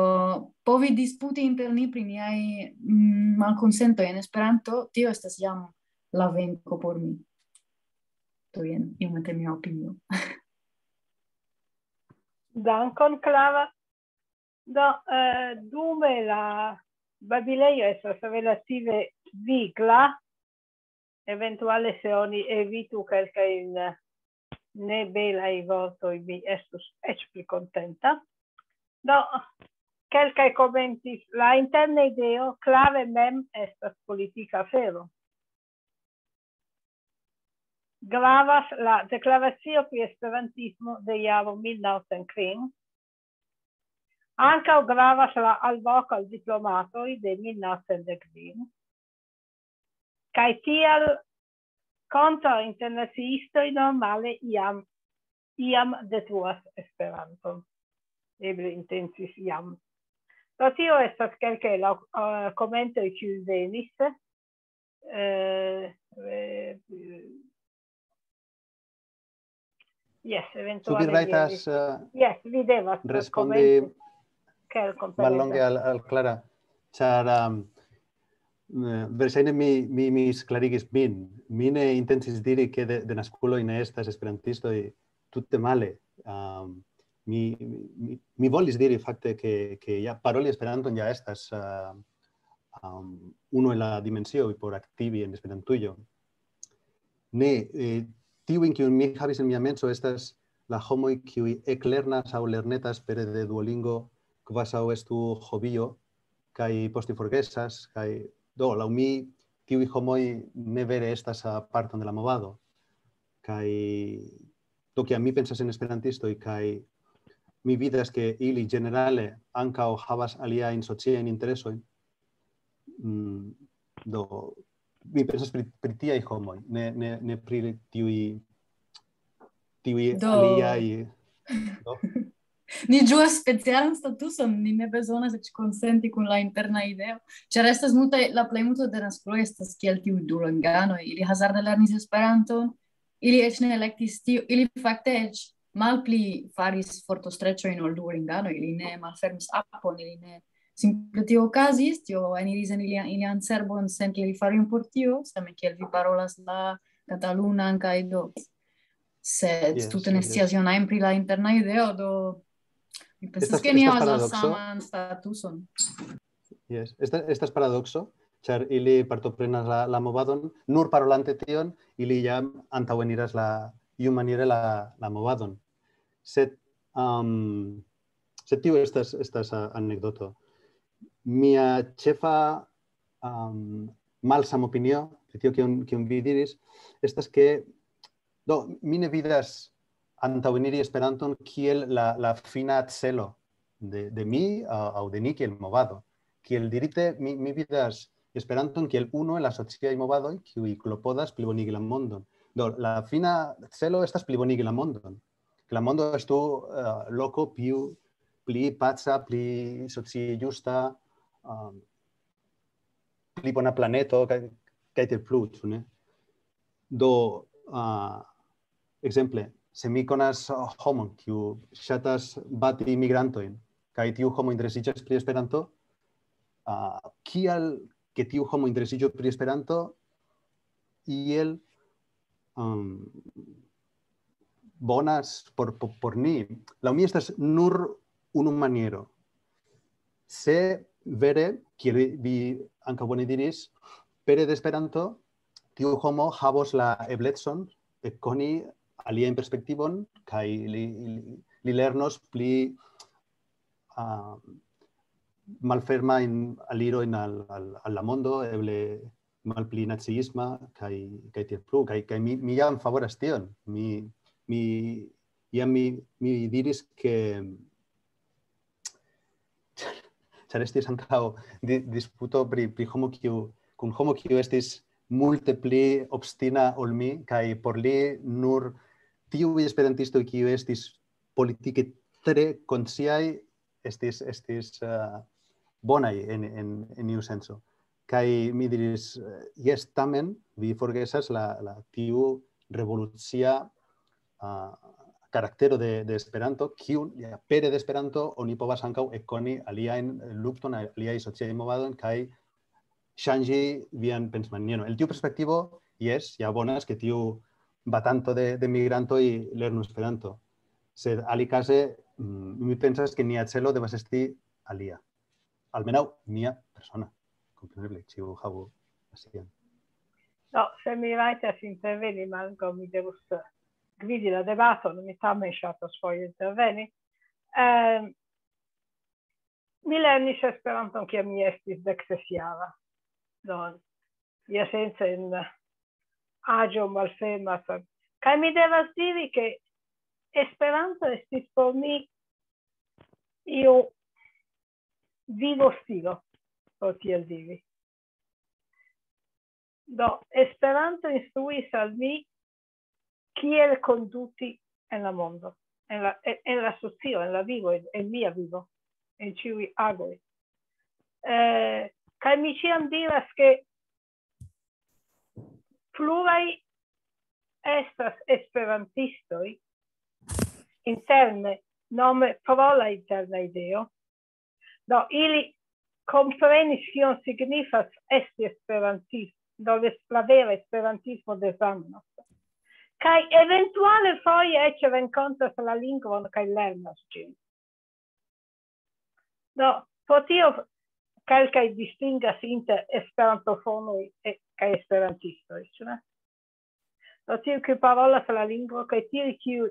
povi disputi inter ni pri niaj, mm, malkonsentoj en Esperanto, tio estas jam la venko por mi. Do, jen, iomete mia opinio. Dankon, Klava. Do, eh, dume la babilejo estas relative vigla, eventuale se oni evitu kelkajn ne belaj vortoj, mi estus eĉ pli kontenta. Do, kelkaj komentis, la interna ideo Klave mem estas politika afero. Gravas la deklaracio pri esperantismo de jaro mil naŭcent kvin. Ankaŭ gravas la alvoko al diplomatoj de mil naŭcent dek kvin. Kaj tial kontraŭ internaciistoj normale iam, iam detruas Esperanton. Eble intencis jam. Do tio estas kelkaj la, eh, komentoj, kiuj venis. Eh, eh, yes, Ĉu vi eventuale vi rajtas, havis, eh, yes, vi devas respondi komenti. Kelkon per mallonge eble. Al, al Clara? Ĉar, um, eh, verŝajne mi, mi, mi misklarigis min. Mi ne intencis diri, ke de, denaskuloj ne estas esperantistoj, tute male. Um, mi, mi, mi volis diri fakte, ke, ke ja paroli Esperanton ja estas, uh, um, unu el la dimensioj por aktivi en Esperantujo. Ne, eh, tiujn, kiujn mi havis en mia menso, estas la homoj, kiuj eklernas aŭ lernetas pere de Duolingo, kvazaŭ estu hobio, kaj poste forgesas, kaj do, laŭ mi, tiuj homoj ne vere estas, ah, parton de la movado. Kaj do, kiam mi pensas en esperantistoj, kaj mi vidas, ke ili ĝenerale ankaŭ havas aliajn sociajn interesojn, mm, do, mi pensas pri, pri tiaj homoj, ne, ne, ne pri tiuj, tiuj Do. Aliaj. Do. Ni ĝuas specialan statuson, ni ne bezonas eĉ konsenti kun la interna ideo, ĉar estas multaj, la plejmulto de naskuloj estas kiel tiuj duolinganoj, ili hazarde lernis Esperanton, ili eĉ ne elektis tio, ili fakte eĉ malpli faris fortostreĉojn ol Duolinganoj, ili ne malfermis apon, ili ne, simple tio okazis, tio eniris en ilian, ilian cerbon sen ke ili faru ion por tio, same kiel vi parolas la katalunan kaj do. Sed Yes, tute ne yes. Scias ion ajn pri la interna ideo, do mi pensas Estas- ke ni estas havas la paradokso. Saman statuson. Yes. Esta, estas paradokso, ĉar ili partoprenas la, la movadon, nur parolante tion, ili jam antaŭeniras la, iumaniere la, la movadon. Sed, um, sed tio estas, estas uh, anekdoto. Mia ĉefa um, malsamopinio, pri tio kion, kion vi diris, estas ke, do, mi ne vidas antaŭeniri Esperanton kiel la, la fina celo de, de mi aŭ, aŭ de ni kiel movado. Kiel dirite, mi, mi vidas Esperanton kiel unu el la sociaj movadoj, kiuj klopodas plibonigi la mondon. Do, la fina celo estas plibonigi la mondon. La mondo estu uh, loko più, pli paca, pli socie ĝusta, um, pli bona planeto, kaj, kaj tiel plu, ĉu ne? Do, uh, ekzemple, se mi konas homon, kiu ŝatas bati imigrantojn, kaj tiu homo interesiĝas pri Esperanto, uh, kial ke tiu homo interesiĝu pri Esperanto, iel um, bonas por, por, por ni. Laŭ mi estas nur unu maniero. Se vere, kiel vi ankaŭ bone diris, pere de Esperanto, tiu homo havos la eblecon ekkoni alian perspektivon, kaj li, li, li lernos pli uh, malfermajn alirojn al, al, al la mondo, eble malpli naciisma, kaj, kaj tiel plu, kaj, kaj mi, mi jam favoras tion. Mi, mi, jam mi, mi diris ke, ĉar estis ankaŭ di, disputo pri, pri homo kiu, kun homo kiu estis multe pli obstina ol mi, kaj por li nur tiuj esperantistoj kiuj estis politike tre konsciaj estis, estis uh, bonaj en, en, en iu senso. Kaj mi diris, uh, jes, tamen vi forgesas la, la tiu revolucia uh, karaktero de, de Esperanto, kiu ja, pere de Esperanto oni povas ankaŭ ekkoni aliajn lukton, aliaj sociaj movadon, kaj ŝanĝi vian pensmanieron. El tiu perspektivo, jes, ja bonas, ke tiu batanto de, de migrantoj lernu Esperanto. Sed alikaze, mm, mi pensas, ke nia celo devas esti alia. Almenaŭ mia persona. Kompreneble, ĉiu havu la sian. No, se mi rajtas interveni, malgraŭ mi devus gvidi la debaton, mi tamen ŝatas foje interveni. Eh, mi lernis Esperanton, kiam mi estis dek ses jara. Do, esence en aĝo malfermas. Kaj mi devas diri, ke Esperanto estis por mi iu vivo stilo, por tiel diri. Do, Esperanto instruis al mi, kiel konduti en la mondo, en la, en, en la socio, en la vivo, en, en mia vivo, en ĉiuj agoj. Eh, kaj mi ĉiam diras, ke pluraj estas esperantistoj interne, nome pro la interna ideo. Do, ili komprenis, kion signifas esti esperantist, do, la vera esperantismo de Zamenhof. Kaj eventuale foje eĉ renkontas la lingvon kaj lernas ĝin. Do, pro tio kelkaj distingas inter esperantofonoj e, kaj esperantistoj, ĉu ne? Do, tiuj, kiuj parolas la lingvo, kaj tiuj, kiuj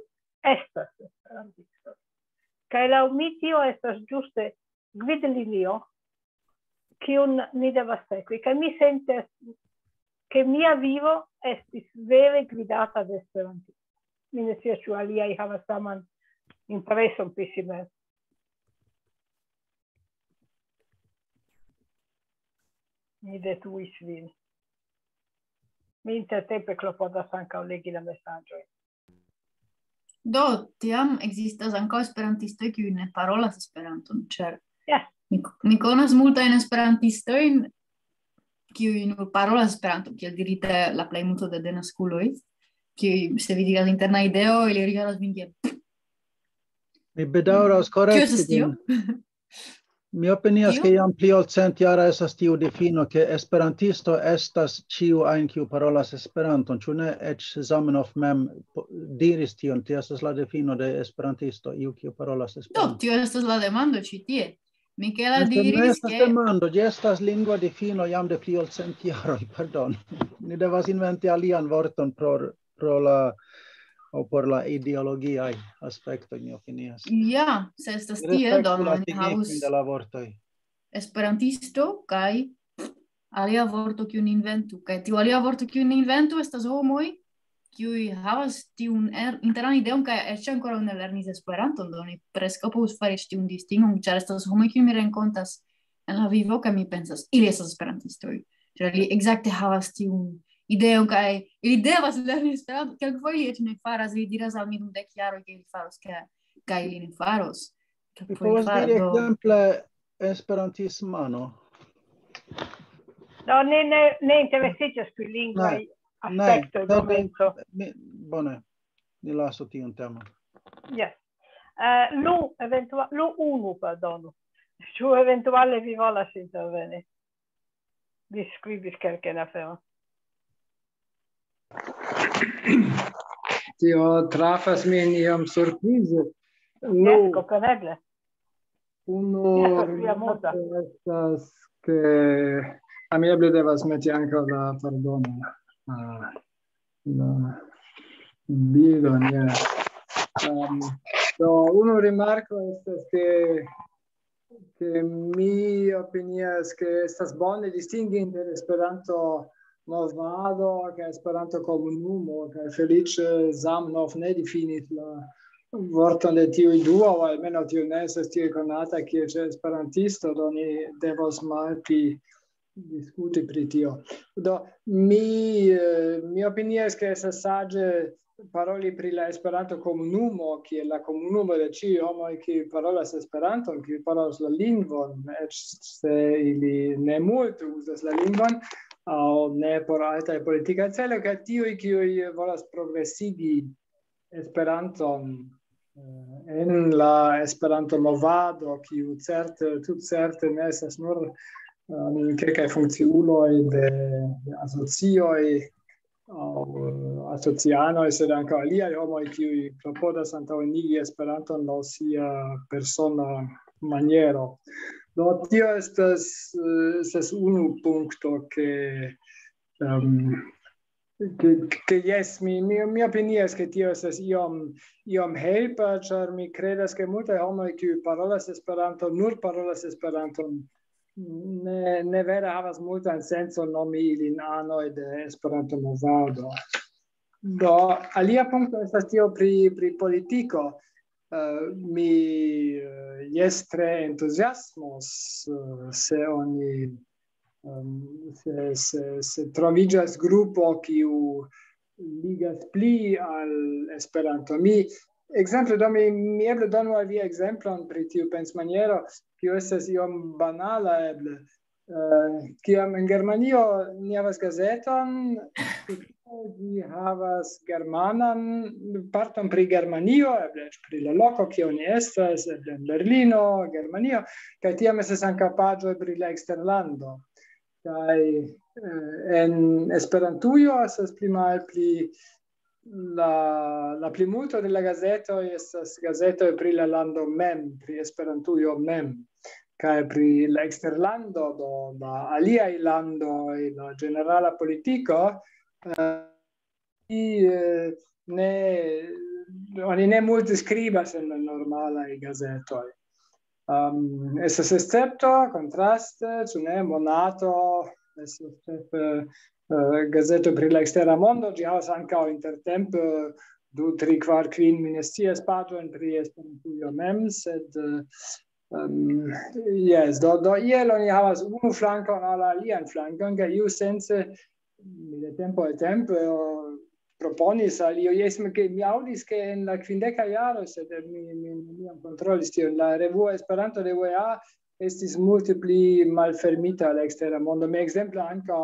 estas esperantistoj. Kaj laŭ mi tio estas ĝuste gvidlinio, kiun ni devas sekvi. Kaj mi sentas, ke mia vivo estis vere gvidata de Esperanto. Mi ne scias, ĉu aliaj havas saman impreson pri si mem. Mi detruis vin. Mi intertempe klopodas ankaŭ legi la mesaĝojn. Do, tiam ekzistas ankaŭ esperantistoj, kiuj ne parolas Esperanton, ĉar Ja. mi, mi konas multajn esperantistojn, kiuj nur parolas Esperanton, kiel dirite, la plejmulto de denaskuloj, kiuj, se vi diras interna ideo, ili rigardas vin kiel: Mi bedaŭras, "Kio estas korekti tio?" vin. Mi opinias, Tio? Ke jam pli ol centjara estas tiu difino, ke esperantisto estas ĉiu ajn, kiu parolas Esperanton. Ĉu ne? Eĉ Zamenhof mem po- diris tion, tio estas la difino de esperantisto, iu, kiu parolas Do, Esperanton. Tio estas la demando ĉi tie. Mikela Estas, ne diris, estas ke demando, ĝi estas lingva difino jam de pli ol cent jaroj, pardon. Ni devas inventi alian vorton pro, pro la, aŭ por la ideologiaj aspektoj, mi opinias. Ja, se estas Mi tiel, respektu do la ni signifon havus de la vortoj. esperantisto kaj alia vorto, kiun inventu. Kaj tiu alia vorto, kiun inventu, estas homoj, kiuj havas tiun er- internan ideon, kaj eĉ ankoraŭ ne lernis Esperanton, do ni preskaŭ povus fari tiun distingon, ĉar estas homoj, kiuj mi renkontas en la vivo, kaj mi pensas, "Ili estas esperantistoj." Ĉar ili ekzakte havas tiun ideon, kaj ili devas lerni Esperanton. Kelkfoje eĉ ne faras, ili diras al mi dum dek jaroj, ke ili faros, kaj, kaj ili ne faros. Mi povas diri ekzemple esperantismano. No, ne, ne, ne interesiĝas pri lingvaj Ne, aspektoj, ne, momento. Mi, bone, ni lasu tiun temon. Yes. Uh, Lu, eventua Lu unu, pardonu. Ĉu eventuale vi volas interveni? Vi skribis kelkajn aferojn. Tio trafas min iom surprize. Yes, kompreneble. Unu Yes, via muta. Estas ke amieble devas meti ankaŭ la, pardonu, ah, la bildon, ja. Um, do, unu rimarko estas ke, ke mi opinias, ke estas bone distingi inter Esperanto movado kaj Esperanto komunumo, kaj feliĉe Zamenhof ne difinis la vorton de tiuj duo, aŭ almenaŭ tio ne estas tiel konata kiel ĉe esperantisto, do ni devos malpli diskuti pri tio. Do, mi, eh, mi opinias, ke estas saĝe paroli pri la Esperanto komunumo, kiel la komunumo de ĉiuj homoj, kiuj parolas Esperanton, kiuj parolas la lingvon, eĉ se ili ne multe uzas la lingvon, aŭ ne por altaj politikaj celoj, kaj tiuj, kiuj volas progresigi Esperanton, eh, en la Esperanto-movado, kiu certe, tutcerte ne estas nur, um, kelkaj funkciuloj de, de asocioj aŭ, eh, asocianoj, sed ankaŭ aliaj homoj, kiuj klopodas antaŭenigi Esperanton laŭ sia persona maniero. Do, tio estas, eh, estas unu punkto, ke, em, ke, ke jes, mi, mi, mi opinias, ke tio estas iom, iom helpa, ĉar mi kredas, ke multaj homoj, kiuj parolas Esperanton, nur parolas Esperanton, ne, ne vere havas multan sencon nomi ilin anoj de Esperanto-movado. Do, alia punkto estas tio pri, pri politiko. Eh, mi, eh, jes, tre entuziasmos, eh, se oni, em, se, se, se troviĝas grupo, kiu ligas pli al Esperanto. Mi, ekzemple, do mi, mi eble donu al vi ekzemplon pri tiu pensmaniero, kiu estas iom banala eble. Eh, kiam en Germanio ni havas gazeton, ĝi havas germanan parton pri Germanio, eble eĉ pri la loko, kie oni estas, eble en Berlino, Germanio, kaj tiam estas ankaŭ paĝoj pri la eksterlando. Kaj, eh, en Esperantujo estas pli malpli la, la plimulto de la gazetoj estas gazetoj pri la lando mem, pri Esperantujo mem, kaj pri la eksterlando, do la aliaj landoj, la ĝenerala politiko, eh, i, eh, ne, oni ne multe skribas en la normalaj gazetoj. Um, estas escepto, kontraste, ĉu ne, Monato, estas ĉefe, eh, gazeto pri la ekstera mondo, ĝi havas ankaŭ intertempe du, tri, kvar, kvin, mi ne scias, paĝojn pri Esperantujo mem, sed, eh, em, jes, do, do iel oni havas unu flankon al alian flankon, kaj iusence mi de tempo al tempo, eh, proponis al io, jes, mi, ke mi aŭdis, ke en la kvindeka jaro, sed mi, mi neniam kontrolis tion, la revuo Esperanto de U E A estis multe pli malfermita al la ekstera mondo. Mi ekzemple ankaŭ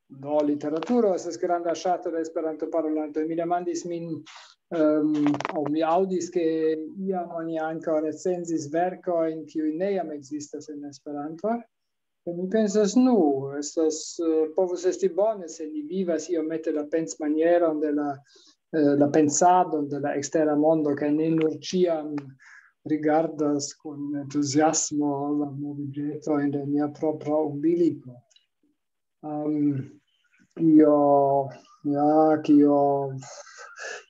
Do, literaturo estas granda ŝato de Esperanto-parolantoj. Mi demandis min, ehm, aŭ mi aŭdis, ke iam oni ankaŭ recenzis verkojn, kiuj ne jam ekzistas en Esperanto. Kaj mi pensas, nu, estas, eh, povus esti bone, se ni vivas iomete la pensmanieron de la, eh, la pensadon de la ekstera mondo, kaj ne nur ĉiam rigardas kun entuziasmo la moviĝetojn de nia propra umbiliko. Ehm, io, ja, kio,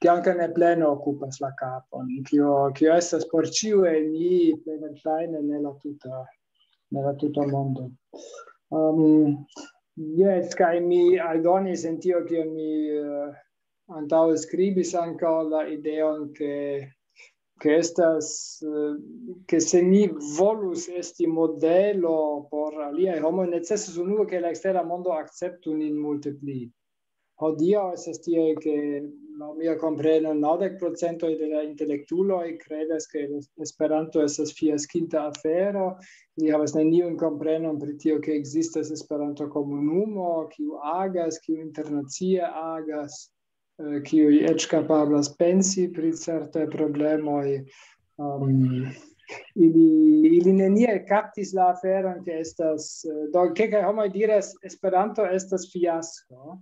kio ankaŭ ne plene okupas la kapon, kio, kio estas por ĉiuj el ni, plej verŝajne ne la tuta, ne la tuta mondo. Ehm, jes, kaj mi aldonis en tio, kion mi, eh, antaŭe skribis, ankaŭ la ideon, ke, ke estas, eh, ke se ni volus esti modelo por aliaj homoj, necesas unue, ke la ekstera mondo akceptu nin multe pli. Hodiaŭ estas tiel, ke laŭ mia kompreno naŭdek procentoj de la intelektuloj kredas, ke Esperanto estas fiaskinta afero. Ili havas neniun komprenon pri tio, ke ekzistas Esperanto-komunumo, kiu agas, kiu internacie agas, eh, kiuj eĉ kapablas pensi pri certaj problemoj. Um, ili, ili neniel kaptis la aferon, ke estas, eh, do, kelkaj homoj diras, "Esperanto estas fiasko."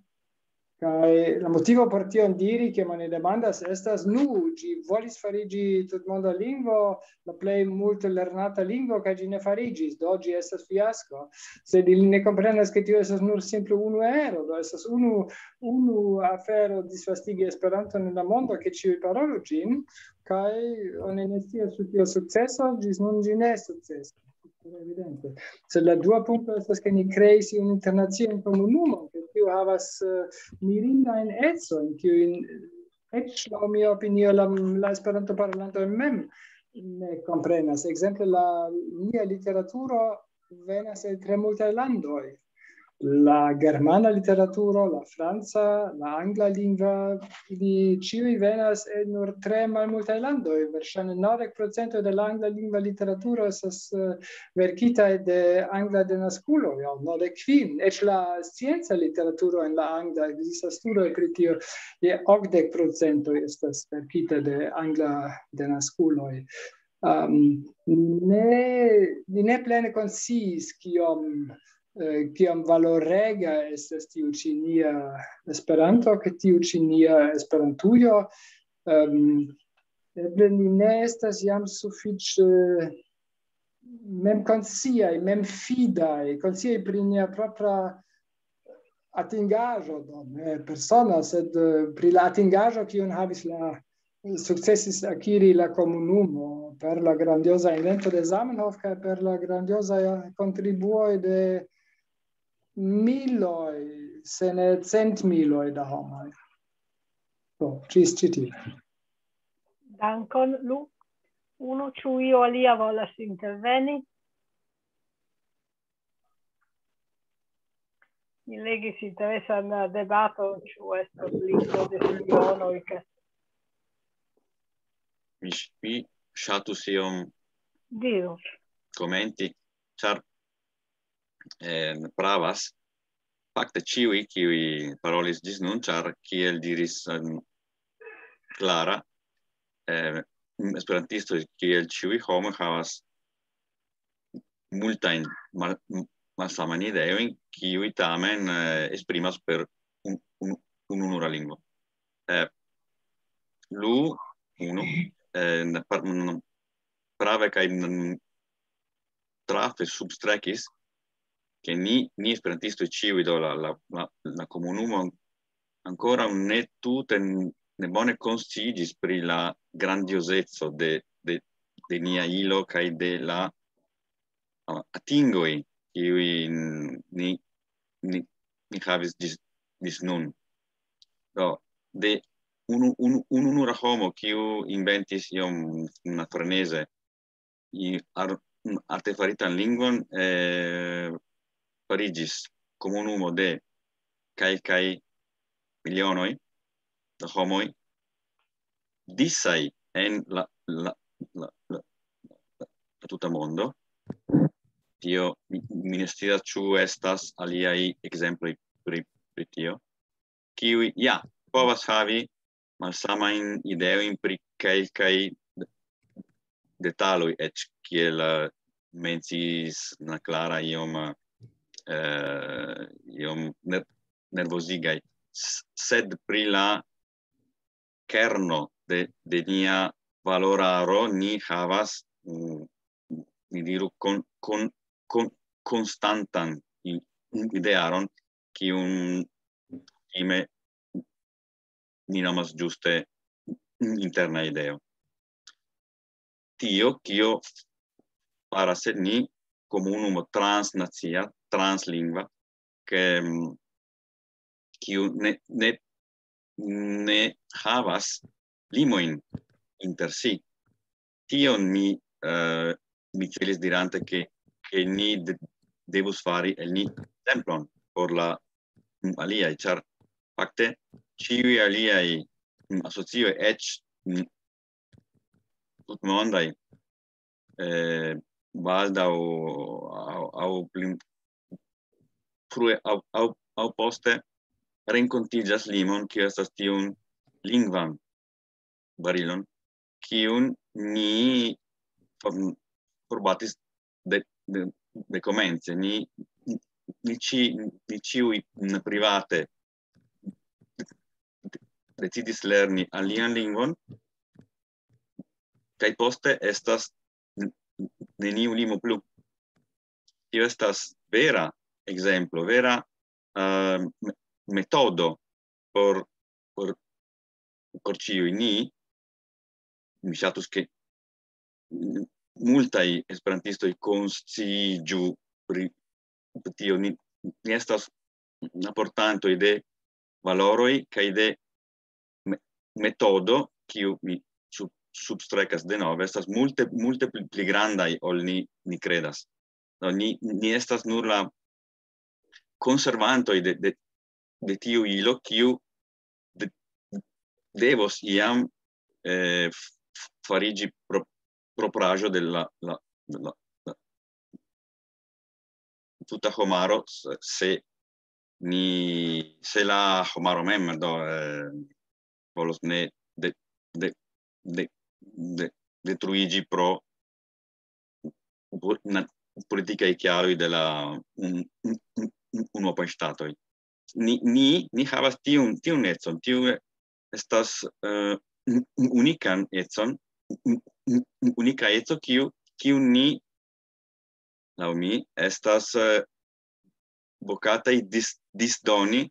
Kaj la motivo por tion diri, ke oni demandas, estas, "Nu, ĝi volis fariĝi tutmonda lingvo, la plej multe lernata lingvo, kaj ĝi ne fariĝis, do ĝi estas fiasko." Sed ili ne komprenas, ke tio estas nur simple unu ero, do estas unu, unu afero disvastigi Esperanton en la mondo, ke ĉiuj parolu ĝin, kaj oni ne scias, ĉu tio sukcesos, ĝis nun ĝi ne sukcesis. Evidente. Sed la dua punkto estas, ke ni kreis iun internacian komunumon, ke tio havas, eh, mirindajn ecojn, kiujn eĉ laŭ mia opinio la, la Esperanto-parolantoj mem ne komprenas. Ekzemple, la nia literaturo venas el tre multaj landoj. La germana literaturo, la franca, la angla lingva, ili ĉiuj venas el nur tre malmultaj landoj. Verŝajne naŭdek procento de la angla lingva literaturo estas, eh, verkitaj de angla denaskuloj, aŭ naŭdek kvin. Eĉ la scienca literaturo en la angla, ekzistas studoj pri tio, je okdek procento estas verkita de angla denaskuloj. Um, ne, ni ne plene konsciis, kiom, eh, kiom valorega estas tiu ĉi nia Esperanto, ke tiu ĉi nia Esperantujo. Um, eble ni ne estas jam sufiĉe memkonsciaj, memfidaj, konsciaj pri nia propra atingaĵo, do, ne persona, sed, eh, pri la atingaĵo, kiun havis la, sukcesis akiri la komunumo per la grandioza invento de Zamenhof kaj per la grandioza kontribuoj de miloj, se ne centmiloj da homoj. Do, ĝis ĉi tie. Dankon, Lu. Unu, ĉu io alia volas interveni? Mi legis interesan debaton, ĉu estos lingvo de spionoj, ke Mi ŝ-, mi ŝatus iom Diru. Komenti, ĉar, eh, pravas fakte ĉiuj, kiuj parolis ĝis nun, ĉar kiel diris, em, Clara, eh, esperantistoj kiel ĉiuj homoj havas multajn mal-, m-, malsamajn ideojn, kiuj tamen, eh, esprimas per un-, un-, ununura lingvo. Eh, Lu, unu, eh, n-, par-, n-, prave kaj n-, trafe substrekis, ke ni, ni esperantistoj ĉiuj, do la, la, la, la komunumo an-, ankoraŭ ne tute n-, ne bone konsciiĝis pri la grandiozeco de, de, de nia ilo kaj de la, ah, atingoj, kiuj ni, ni, ni havis ĝis, ĝis nun. Do, de unu, unu, ununura homo, kiu inventis iom una freneze i-, ar-, artefaritan lingvon, eh, fariĝis komunumo de kelkaj milionoj da homoj, disaj en la, la, la, la, la, la tuta mondo. Tio, mi, mi ne scias, ĉu estas aliaj ekzemploj pri, pri tio, kiuj, ja, povas havi malsamajn ideojn pri kelkaj detaloj, eĉ kiel, eh, menciis Naklara iom, eh, iom ner-, nervozigaj, s-, sed pri la kerno de, de nia valoraro ni havas, mm, ni diru, kon-, kon-, kon-, konstantan i-, idearon, kiun kutime ni nomas ĝuste interna ideo. Tio, kio faras el ni komunumo transnacia, translingva, ke, mm, kiu ne, ne, ne havas limojn inter si. Tion mi, eh, mi celis dirante, ke, ke ni de-, devus fari el ni templon por la, mm, aliaj, ĉar fakte ĉiuj aliaj, mm, asocioj, eĉ, mm, tutmondaj, eh, baldaŭ aŭ, aŭ pli frue aŭ, aŭ, aŭ poste renkontiĝas limon, kiu estas tiun lingvan barilon, kiun ni for-, forbatis de, de, de komence. Ni, ni, ĉi-, ni ĉiuj private decidis lerni alian lingvon, kaj poste estas n-, neniu limo plu. Tio estas vera ekzemplo, vera, eh, me-, metodo por, por, por ĉiuj ni. Mi ŝatus, ke multaj esperantistoj konsciiĝu pri tio. Ni, ni estas aportantoj de valoroj kaj de me-, metodo, kiu mi sub-, substrekas denove, estas multe, multe pli, pli grandaj ol ni, ni kredas. Do, ni, ni estas nur la konservantoj de, de, de tiu ilo, kiu de-, devos iam, eh, f-, f-, fariĝi pro-, propraĵo de la, la, de la, la tuta homaro, se, se ni, se la homaro mem, do, eh, volos ne de, de, de, de, detruiĝi pro pu-, na-, politikaj kialoj de la un-, un-, un-, un-, unuopaj ŝtatoj. Ni, ni, ni havas tiun, tiun econ, tiu estas, eh, un-, un-, unikan econ, un-, un-, un-, unika eco, kiu, kiu ni, laŭ mi, estas, eh, vokataj dis-, disdoni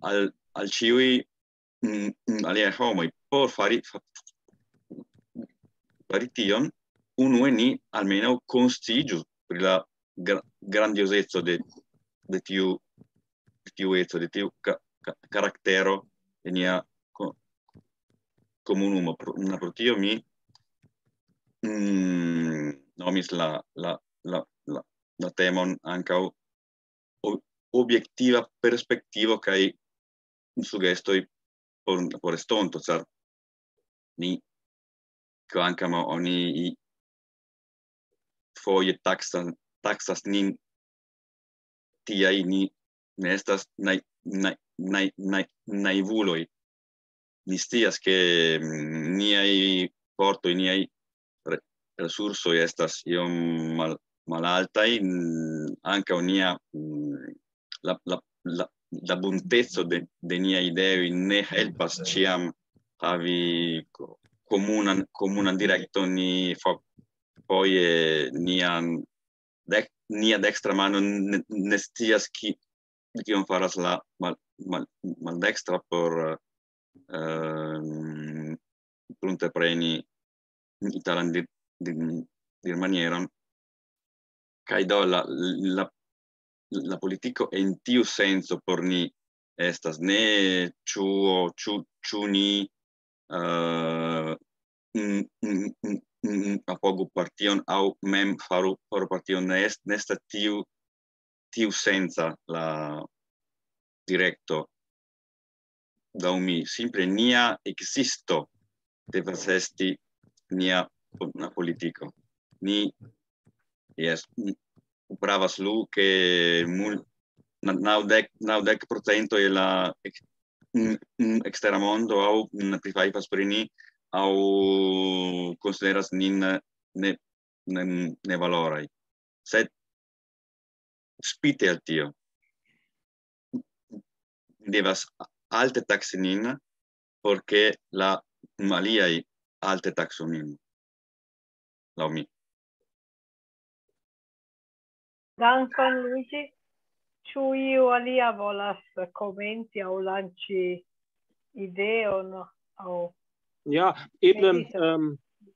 al, al ĉiuj, mm, mm, aliaj homoj. Por fari, fa-, fari tion, unue ni almenaŭ konsciiĝu pri la gra-, grandiozeco de, de tiu, de tiu eco, de tiu ka-, ka-, karaktero de nia ko-, komunumo. Pro, na, pro tio mi, mm, nomis la, la, la, la, la temon ankaŭ o-, objektiva perspektivo kaj sugestoj por, por estonto, ĉar ni, kvankam oni i-, foje taksa-, taksas nin tiaj, ni ne estas nai-, nai-, nai-, nai-, naivuloj. Ni scias, ke, mm, niaj fortoj, niaj re-, resursoj estas iom mal-, malaltaj, mm, ankaŭ nia, mm, la, la, la, la bunteco de, de niaj ideoj ne helpas ĉiam havi ko-, komunan, komunan direkton, ni fo-, foje nian dek-, nia dekstra mano ne, ne scias ki-, kion faras la mal-, mal-, maldekstra por, ehm, pruntepreni italan dir-, dir-, dirmanieron. Kaj do la, la, la politiko en tiu senco por ni estas ne ĉu, ĉu, ĉu ni, eh, mm, mm, mm, mm, apogu partion aŭ mem faru, faru partion. Ne est-, ne estas tiu, tiu senca la direkto. Laŭ mi, simple nia ekzisto devas esti nia po-, na politiko. Ni, jes, mi pravas, Lu, ke mul-, naŭdek, naŭdek procento de la ek-, mm, mm, ekstera mondo aŭ, mm, prifajfas pri ni, aŭ konsideras nin ne, ne, nevaloraj. Sed spite al tio, devas alte taksi nin, por ke la aliaj alte taksu nin, laŭ mi. Dankon, Luigi. Ĉu iu alia volas komenti aŭ lanĉi ideon aŭ... Ja, eble, ähm,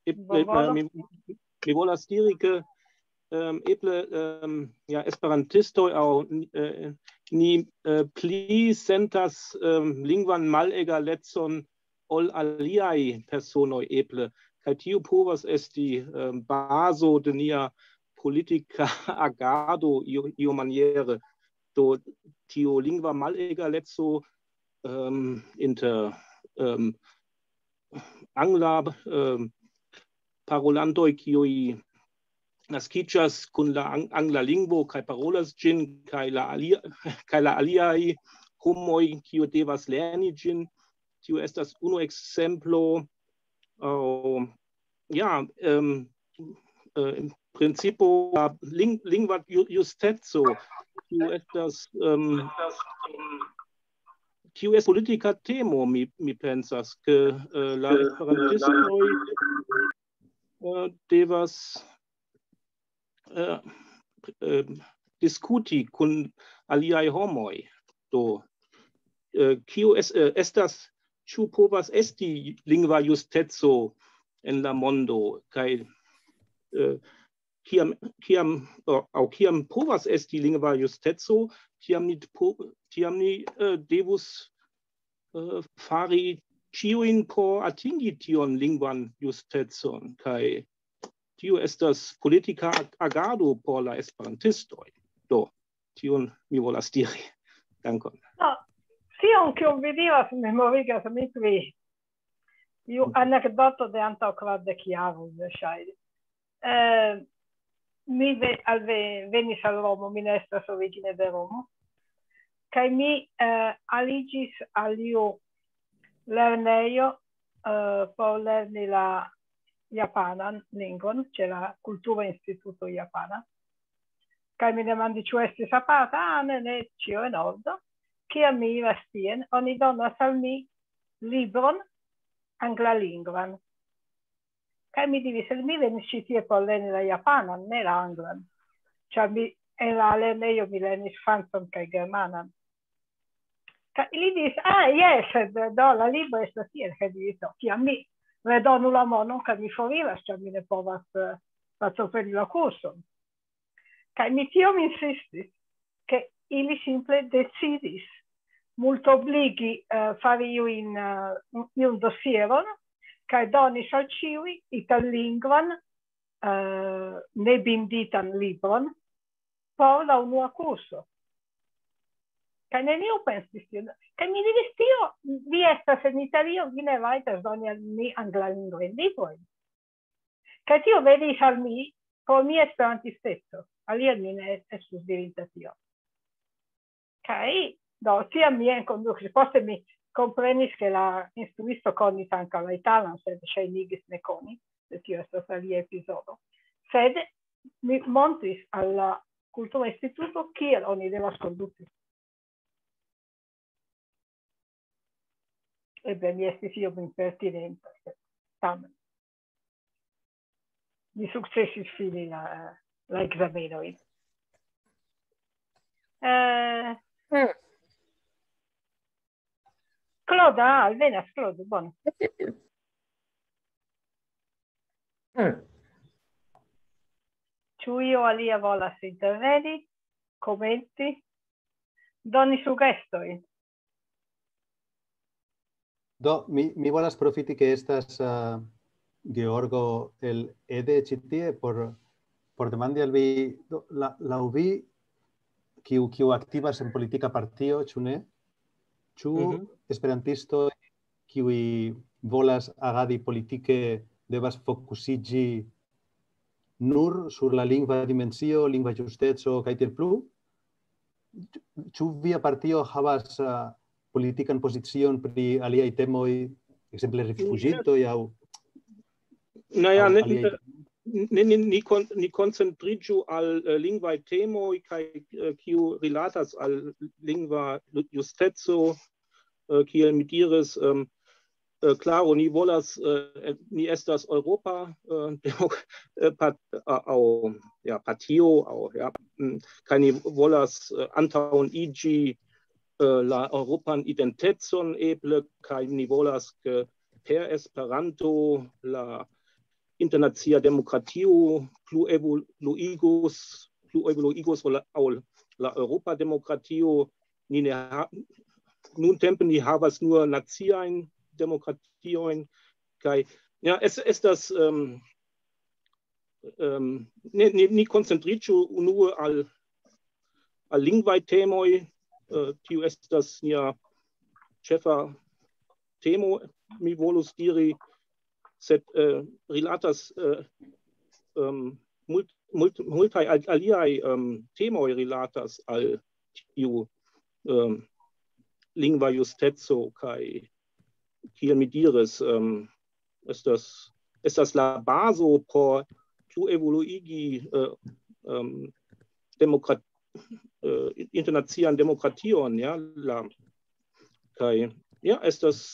eble, äh, mi, mi volas diri, ke, ähm, eble, ähm, ja, esperantistoj aŭ, äh, ni, äh, pli sentas, ähm, lingvan malegalecon ol aliaj personoj eble. Kaj tio povas esti, ähm, bazo de nia politika agado io, iomaniere. Do tio lingva malegaleco, ähm, inter, ähm, angla, ähm, parolantoj, kiuj naskiĝas kun la ang-, angla lingvo kaj parolas ĝin, kaj la alia-, kaj la aliaj homoj, kiuj devas lerni ĝin. Tio estas unu ekzemplo. Äh, ja, ähm, äh, en principo la ling-, lingva ju-, justeco, kiu estas, ähm, kiu estas politika temo, mi, mi pensas, ke, äh, la esperantistoj, äh, devas, äh, äh, diskuti kun aliaj homoj. Do, äh, kio es-, äh, estas, ĉu povas esti lingva justeco en la mondo, kaj, äh, kiam, kiam, aŭ, aŭ kiam povas esti lingva justeco, tiam ni po-, tiam ni, äh, devus, äh, fari ĉiujn por atingi tion lingvan justecon, kaj tio estas politika ag-, agado por la esperantistoj. Do, tion mi volas diri. Dankon. No, tion kion vi diras memorigas mi pri iu anekdoto de antaŭ kvardek jaroj, verŝajne. Eh, mi ve-, al ve-, venis al Romo, mi ne estas origine de Romo, kaj mi, eh, aliĝis al iu lernejo, eh, por lerni la japanan lingvon, ĉe la Kultura Instituto Japana. Kaj mi demandis, ĉu estis aparta, ah, ne, ne, ĉio en ordo. Kiam mi iras tien, oni donas al mi libron anglalingvan. Kaj mi diris, "Sed mi venis ĉi tie por lerni la japanan, ne la anglan." Ĉar mi, en la lernejo mi lernis francan kaj germanan. Kaj ili diris, "Ah, jes, sed do la libro estas tiel." Kaj diris, "Do, kiam mi redonu la monon, kaj mi foriras, ĉar mi ne povas, eh, partopreni la kurson." Kaj mi tiom insistis, ke ili simple decidis multobligi, eh, fari iujn, eh, iun dosieron, kaj donis al ĉiuj itallingvan, eh, nebinditan libron por la unua kurso. Kaj neniu pensis tion. Kaj mi diris, "Tio, vi estas en Italio, vi ne rajtas doni al mi anglalingvajn librojn." Kaj tio venis al mi pro mia esperantisteco. Alie mi ne estus dirinta tion. Kaj, do, tiam mi enkondukis. Poste mi komprenis, ke la instruisto konis ankaŭ la italan, sed ŝajnigis ne koni. Sed tio estas alia epizodo. Sed mi montris al la Kultura Instituto, kiel oni devas kondukti. Eble mi estis iom impertinenta, sed tamen. Mi sukcesis fini la, la ekzamenojn. Eh, Mm. Claude, ah, alvenas Claude, bone. Mm. Ĉu io alia volas interveni, komenti, doni sugestojn? Do, mi, mi volas profiti ke estas, eh, Georgo el Ede ĉi tie por, por demandi al vi, do, la, laŭ vi, kiu, kiu aktivas en politika partio, ĉu ne? Ĉu Mhm. esperantistoj, kiuj volas agadi politike, devas fokusiĝi nur sur la lingva dimensio, lingva justeco kaj tiel plu? ĉu via partio havas uh, politikan pozicion pri aliaj temoj, ekzemple rifuĝintoj aŭ Naja, ni, ni, ni, ni, kon, ni koncentriĝu al uh, lingvaj temoj kaj uh, kiu rilatas al lingva justeco, uh, kiel mi diris, um, uh, klaro, ni volas, uh, ni estas Europa uh, aŭ ja, partio, aŭ, ja, mm, kaj ni volas uh, antaŭen iĝi uh, la Europan identecon eble, kaj ni volas, ke per Esperanto la internacia demokratio plu evoluigos, plu evoluigos la, la Europa demokratio. Ni ne ha, nuntempe ni havas nur naciajn demokratiojn, kaj ja, es, estas um, um, ni, ni, ni koncentriĝu unue al, al lingvaj temoj, uh, kiu estas nia ĉefa temo, mi volus diri, sed uh, rilatas uh, um, mult, mult, multaj aliaj um, temoj rilatas al tiu um, lingva justeco kaj kiel mi diris, um, estas, estas la bazo por plu evoluigi uh, um, demokrat, uh, internacian demokration, ja, la, kaj ja, estas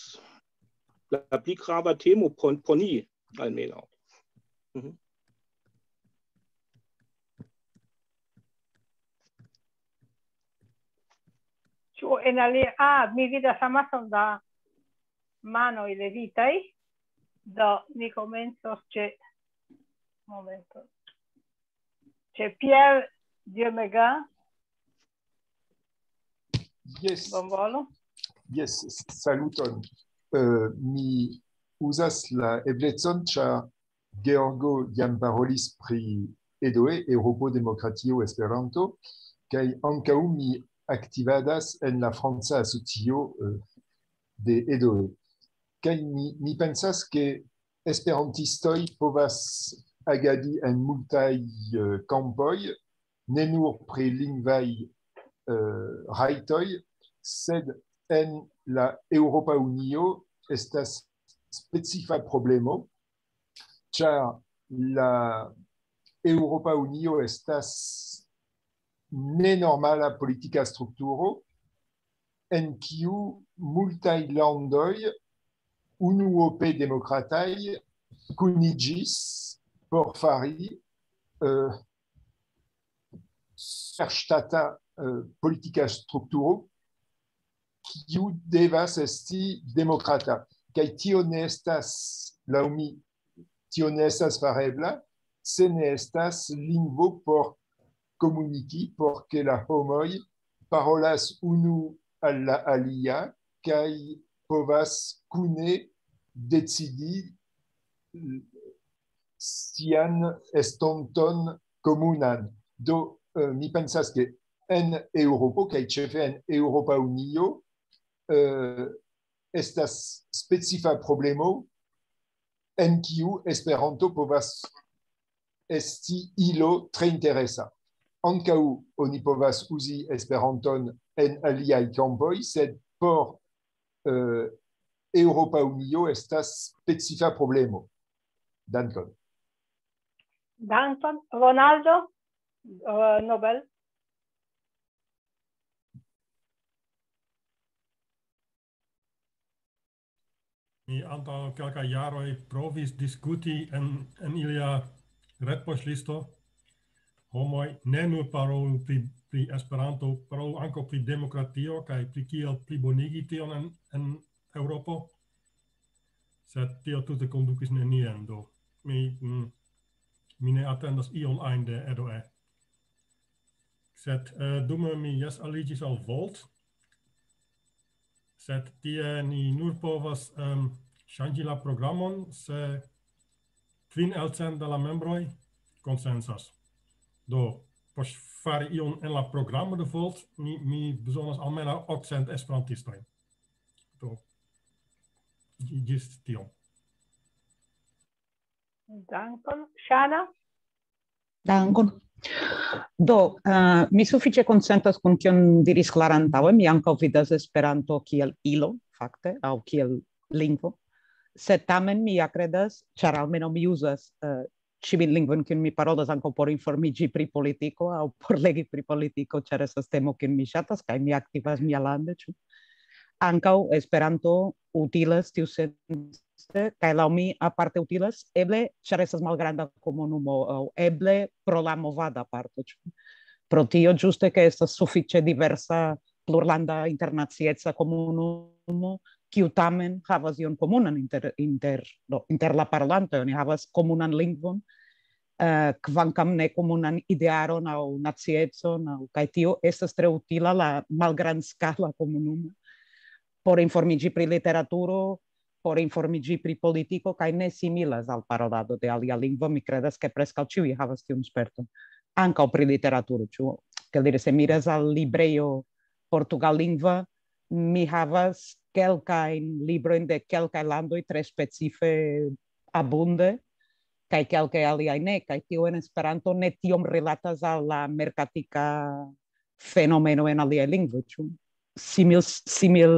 la pli grava temo por, por ni almenaŭ. Mhm. Ĉu en alia, ah, mi vidas amason da manoj levitaj, do ni komencos ĉe, momento, ĉe Pierre Diomega. Yes. Bonvolu. Yes, saluton. Uh, mi uzas la eblecon, ĉar Georgo jam parolis pri EDOE, Europo Demokratio Esperanto, kaj ankaŭ mi aktivadas en la franca asocio uh, de EDOE. Kaj mi, mi pensas, ke esperantistoj povas agadi en multaj uh, kampoj, ne nur pri lingvaj uh, rajtoj, sed en la Eŭropa Unio estas specifa problemo, ĉar la Eŭropa Unio estas nenormala politika strukturo, en kiu multaj landoj unuope demokrataj kuniĝis por fari uh, superŝtata uh, politika strukturo, kiu devas esti demokrata. Kaj tio ne estas, laŭ mi, tio ne estas farebla, se ne estas lingvo por komuniki, por ke la homoj parolas unu al la alia kaj povas kune decidi sian estonton komunan. Do, uh, mi pensas, ke en Eŭropo, kaj ĉefe en Eŭropa Unio, uh, estas specifa problemo, en kiu Esperanto povas esti ilo tre interesa. Ankaŭ oni povas uzi Esperanton en aliaj kampoj, sed por uh, Eŭropa Unio estas specifa problemo. Dankon. Dankon. Ronaldo, uh, Nobel. Mi antaŭ kelkaj jaroj provis diskuti en, en ilia retpoŝlisto. Homoj ne nur parolu pri, pri Esperanto, parolu ankaŭ pri demokratio kaj pri kiel plibonigi tion en, en Eŭropo. Sed tio tute kondukis nenien, do mi, mm, mi ne atendas ion ajn de EDOE. Sed uh, dume mi jes aliĝis al Volt, sed tie ni nur povas um, ŝanĝi la programon, se kvin el cent de la membroj konsensas. Do, por fari ion en la programo de Volt, mi, mi bezonas almenaŭ okcent esperantistojn. Do, ĝis tion. Dankon. Ŝana? Dankon. Do, uh, mi sufiĉe konsentas kun kion diris Klara antaŭe, mi ankaŭ vidas Esperanto kiel ilo, fakte, aŭ kiel lingvo. Sed tamen mi ja kredas, ĉar almenaŭ mi uzas uh, ĉiujn lingvojn, kiun mi parolas, ankaŭ por informiĝi pri politiko aŭ por legi pri politiko, ĉar estas temo, kiun mi ŝatas, kaj mi aktivas mialande, ĉu? Ankaŭ Esperanto utilas tiusence, kaj laŭ mi aparte utilas, eble ĉar estas malgranda komunumo, aŭ eble pro la movada parto, ĉu? Pro tio ĝuste, ke estas sufiĉe diversa plurlanda internacieca komunumo, kiu tamen havas ion komunan inter, inter, do, inter la parolantoj, oni havas komunan lingvon, uh, kvankam ne komunan idearon aŭ naciecon, aŭ, kaj tio estas tre utila la malgrandskala komunumo por informiĝi pri literaturo, por informiĝi pri politiko, kaj ne similas al parolado de alia lingvo. Mi kredas, ke preskaŭ ĉiuj havas tiun sperton. Ankaŭ pri literaturo, ĉu? Kiel diri, se miras al librejo portugallingva, mi havas kelkajn librojn de kelkaj landoj tre specife abunde, kaj kelkaj aliaj ne, kaj tio en Esperanto ne tiom rilatas al la merkatika fenomeno en aliaj lingvoj, ĉu? Simil, simil,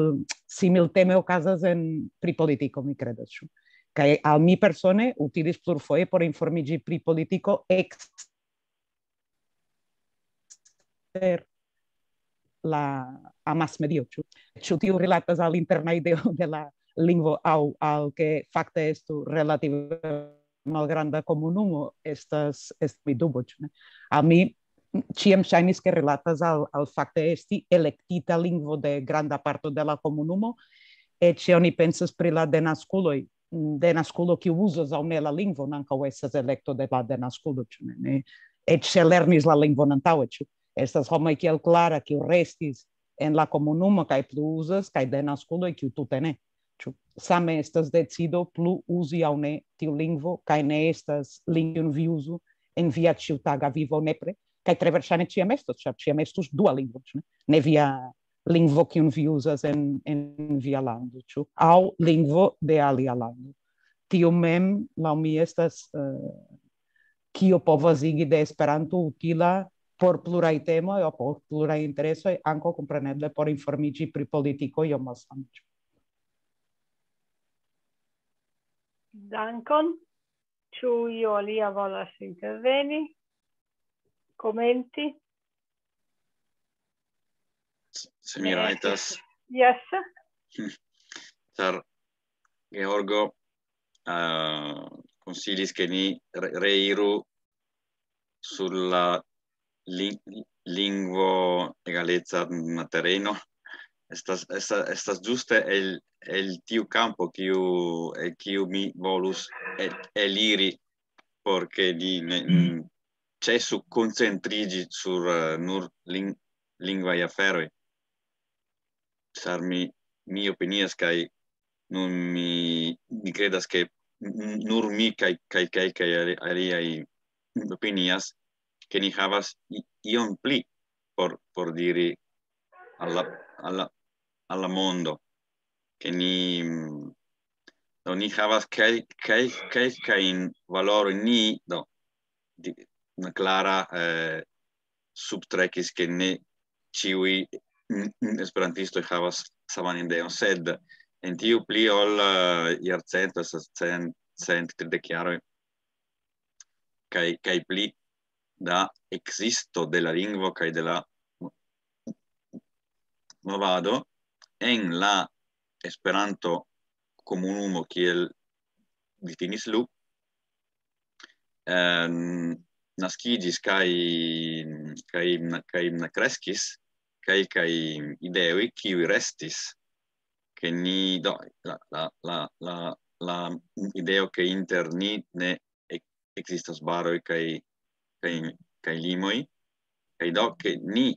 simil teme okazas en pri politiko, mi kredas, ĉu? Kaj al mi persone utilis plurfoje por informiĝi pri politiko ekster la amasmedio, ĉu? Ĉu tiu rilatas al interna ideo de la lingvo aŭ al ke fakte estu relative malgranda komunumo, estas, estas mi dubo, ĉu ne? Al mi ĉiam ŝajnis, ke rilatas al, al fakte esti elektita lingvo de granda parto de la komunumo, eĉ se oni pensas pri la denaskuloj, denaskulo kiu uzas aŭ ne la lingvon ankaŭ estas elekto de la denaskulo, ĉu ne? Ne, eĉ se lernis la lingvon antaŭe, ĉu? Estas homoj kiel Klara, kiu restis en la komunumo kaj plu uzas, kaj denaskuloj, kiu tute ne. Ĉu? Same estas decido plu uzi aŭ ne tiu lingvo, kaj ne estas lingvon vi uzu en via ĉiutaga vivo nepre, kaj tre verŝajne ĉiam estos, ĉar ĉiam estus dua lingvo, ĉu ne? Ne via lingvo, kiun vi uzas en, en via lando, ĉu? Aŭ lingvo de alia lando. Tio mem, laŭ mi, estas, eh, kio povas igi de Esperanto utila por pluraj temoj aŭ por pluraj interesoj, ankaŭ kompreneble por informiĝi pri politiko iom malsame, ĉu? Dankon. Ĉu io alia volas interveni? Komenti? Se mi rajtas. Yes. Ĉar Georgo, eh, konsilis, ke ni re-, reiru sur la lin-, lingvo egaleca tereno. Estas, estas, estas ĝuste el, el tiu kampo, kiu, el kiu mi volus el, eliri, por ke ni ne, mm, ĉesu koncentriĝi sur, eh, nur ling-, lingvaj aferoj. Ĉar mi, mi opinias, kaj nun mi, mi kredas, ke n-, nur mi kaj, kaj, kaj, kaj ali-, aliaj opinias, ke ni havas i-, ion pli por, por diri al la, al la, al la mondo, ke ni, mm, do ni havas kel-, kel-, kelkajn valorojn ni, do, di-, Klara, eh, subtrekis, ke ne ĉiuj, mm, mm, esperantistoj havas saman ideon, sed en tiu pli ol, eh, jarcento, estas cent, cent tridek jaroj, kaj, kaj pli da ekzisto de la lingvo kaj de la movado en la Esperanto komunumo, kiel difinis Lu, em, naskiĝis kaj, kaj, kaj kreskis, kaj, kaj ideoj, kiuj restis, ke ni, do, la, la, la, la, la ideo, ke inter ni ne ek-, ekzistas baroj kaj, kaj, kaj limoj, kaj do, ke ni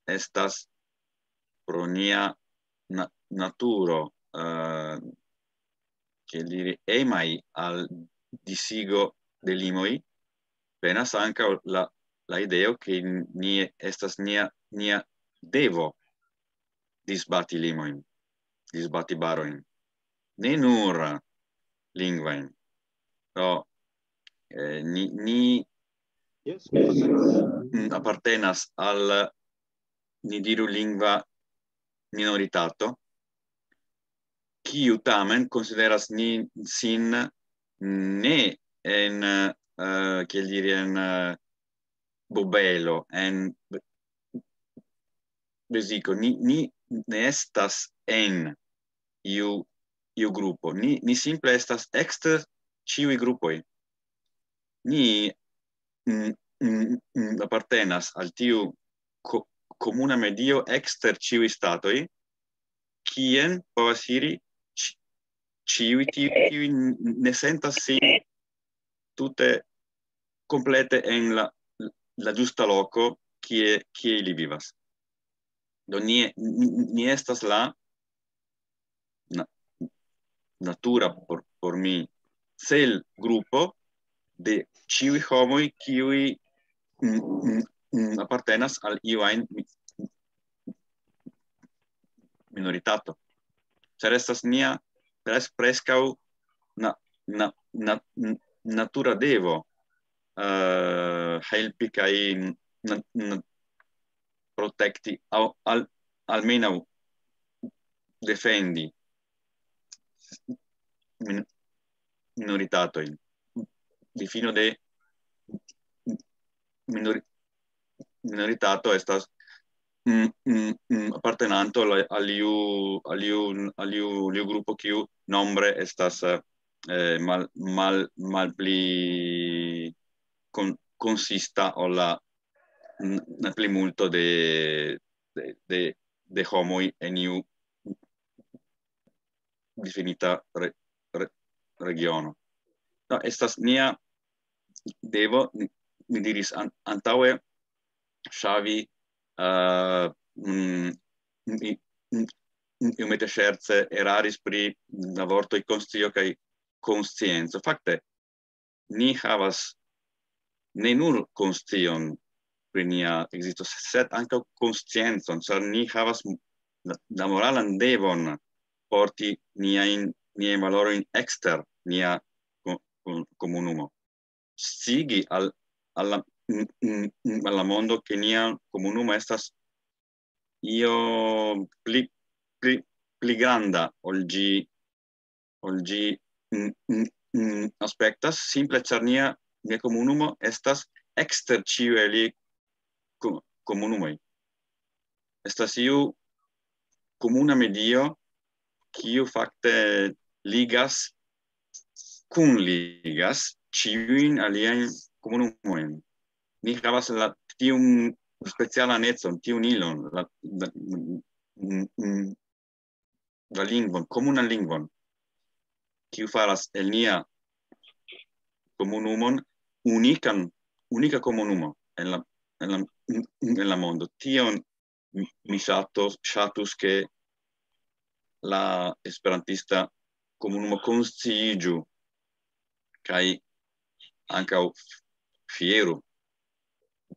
estas pro nia na-, naturo, eh, kiel diri, emaj al disigo de limoj, venas ankaŭ la, la ideo, ke ni estas nia, nia devo disbati limojn, disbati barojn. Ne nur lingvajn. Do, eh, ni, ni, mm, apartenas al, ni diru, lingva minoritato, kiu tamen konsideras ni sin ne en, eh, kiel diri, en, eh, bobelo, en beziko. Ni, ni ne estas en iu, iu grupo. Ni, ni simple estas ekster ĉiuj grupoj. Ni, mm, mm, mm, apartenas al tiu ko-, komuna medio ekster ĉiuj statoj, kien povas iri ĉi-, ĉiuj tiuj, kiuj n-, ne sentas sin tute komplete en la, la ĝusta loko, kie, kie ili vivas. Do ni, ni, ni estas la na-, natura por, por mi cel grupo de ĉiuj homoj, kiuj, mm, mm, mm, apartenas al iu ajn mi-, minoritato. Ĉar estas nia pres-, preskaŭ na-, na-, na-, n-, natura devo, eh, helpi kaj na-, na-, protekti aŭ al-, almenaŭ defendi min-, minoritatojn. Difino de minori-, minoritato estas, mm, mm, mm, apartenanto al, al iu, al iu, al iu, al iu grupo kiu nombre estas, eh, mal-, mal-, malpli kon-, konsista ol la n-, la plimulto de, de, de, de homoj en iu difinita re-, re-, regiono. No, estas nia devo, ni, mi diris an-, antaŭe, Xavi, eh, mm, i-, mm, iomete ŝerce eraris pri la vortoj konscio kaj konscienco. Fakte, ni havas ne nur konscion pri nia ekzisto, sed ankaŭ konsciencon, ĉar ni havas la, la moralan devon porti niajn, niajn valorojn ekster nia ko-, ko-, komunumo. Scigi al, al la, mm, mm, mm, al la mondo, ke nia komunumo estas io pli, pli, pli granda ol ĝi, ol ĝi, mm, mm, mm, aspektas, simple ĉar nia, nia komunumo estas ekster ĉiuj aliaj ko-, komunumoj. Estas iu komuna medio, kiu fakte ligas, kunligas ĉiujn aliajn komunumojn. Ni havas la, tiun specialan econ, tiun ilon, la, la, mm, mm, la lingvon, komunan lingvon, kiu faras el nia komunumon unikan, unika komunumo en la, en la, en la mondo. Tion mi ŝatos, ŝatus, ke la esperantista komunumo konsciiĝu kaj ankaŭ fieru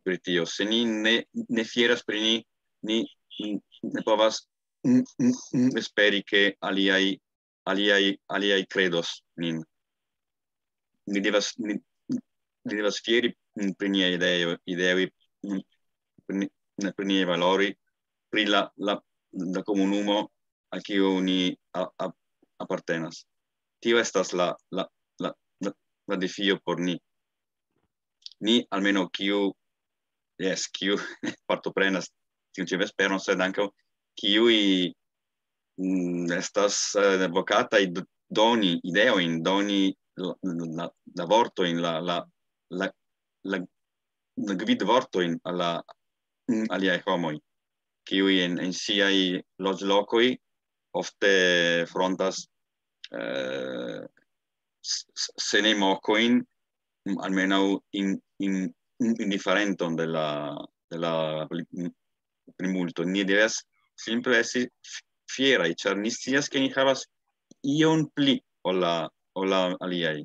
pri tio. Se ni ne, ne fieras pri ni, ni, ni ne povas, mm, mm, mm, esperi, ke aliaj, aliaj, aliaj kredos nin. Ni devas, ni, ni devas fieri, mm, pri niaj ideo-, ideoj, mm, pri ni-, pri niaj valoroj, pri la, la, la komunumo al kiu ni a-, a-, apartenas. Tio estas la, la, la, la, la defio por ni. Ni, almenaŭ kiu, jes, kiu partoprenas tiun ĉi vesperon, sed ankaŭ kiuj, mm, estas, eh, vokataj d-, doni ideojn, doni la, la, la vortojn, la, la, la, la, la gvidvortojn al la, mm, aliaj homoj, kiuj en, en siaj loĝlokoj ofte frontas, eh, s-, s-, se ne mokojn, mm, almenaŭ in-, in-, in-, indiferenton de la, de la pli-, mm, plimulto. Ni devas simple esti f-, fieraj, ĉar ni scias, ke ni havas ion pli ol la, ol la aliaj.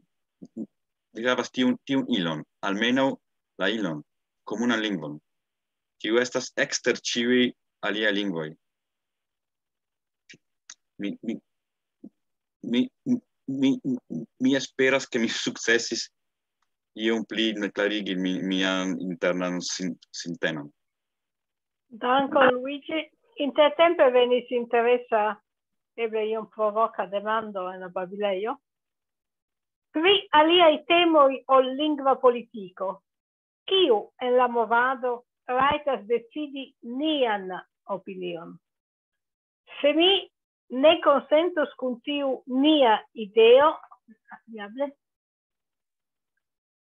Ni havas tiun, tiun ilon, almenaŭ la ilon, komunan lingvon, kiu estas ekster ĉiuj aliaj lingvoj. Mi, mi, mi, mi, mi, mi esperas, ke mi sukcesis iom pli klarigi mi, mian internan sin, sintenon. Dankon, Luigi. Intertempe venis interesa, eble iom provoka demando en la babilejo. Pri aliaj temoj ol lingva politiko. Kiu en la movado rajtas decidi nian opinion? Se mi ne konsentos kun tiu nia ideo, diable,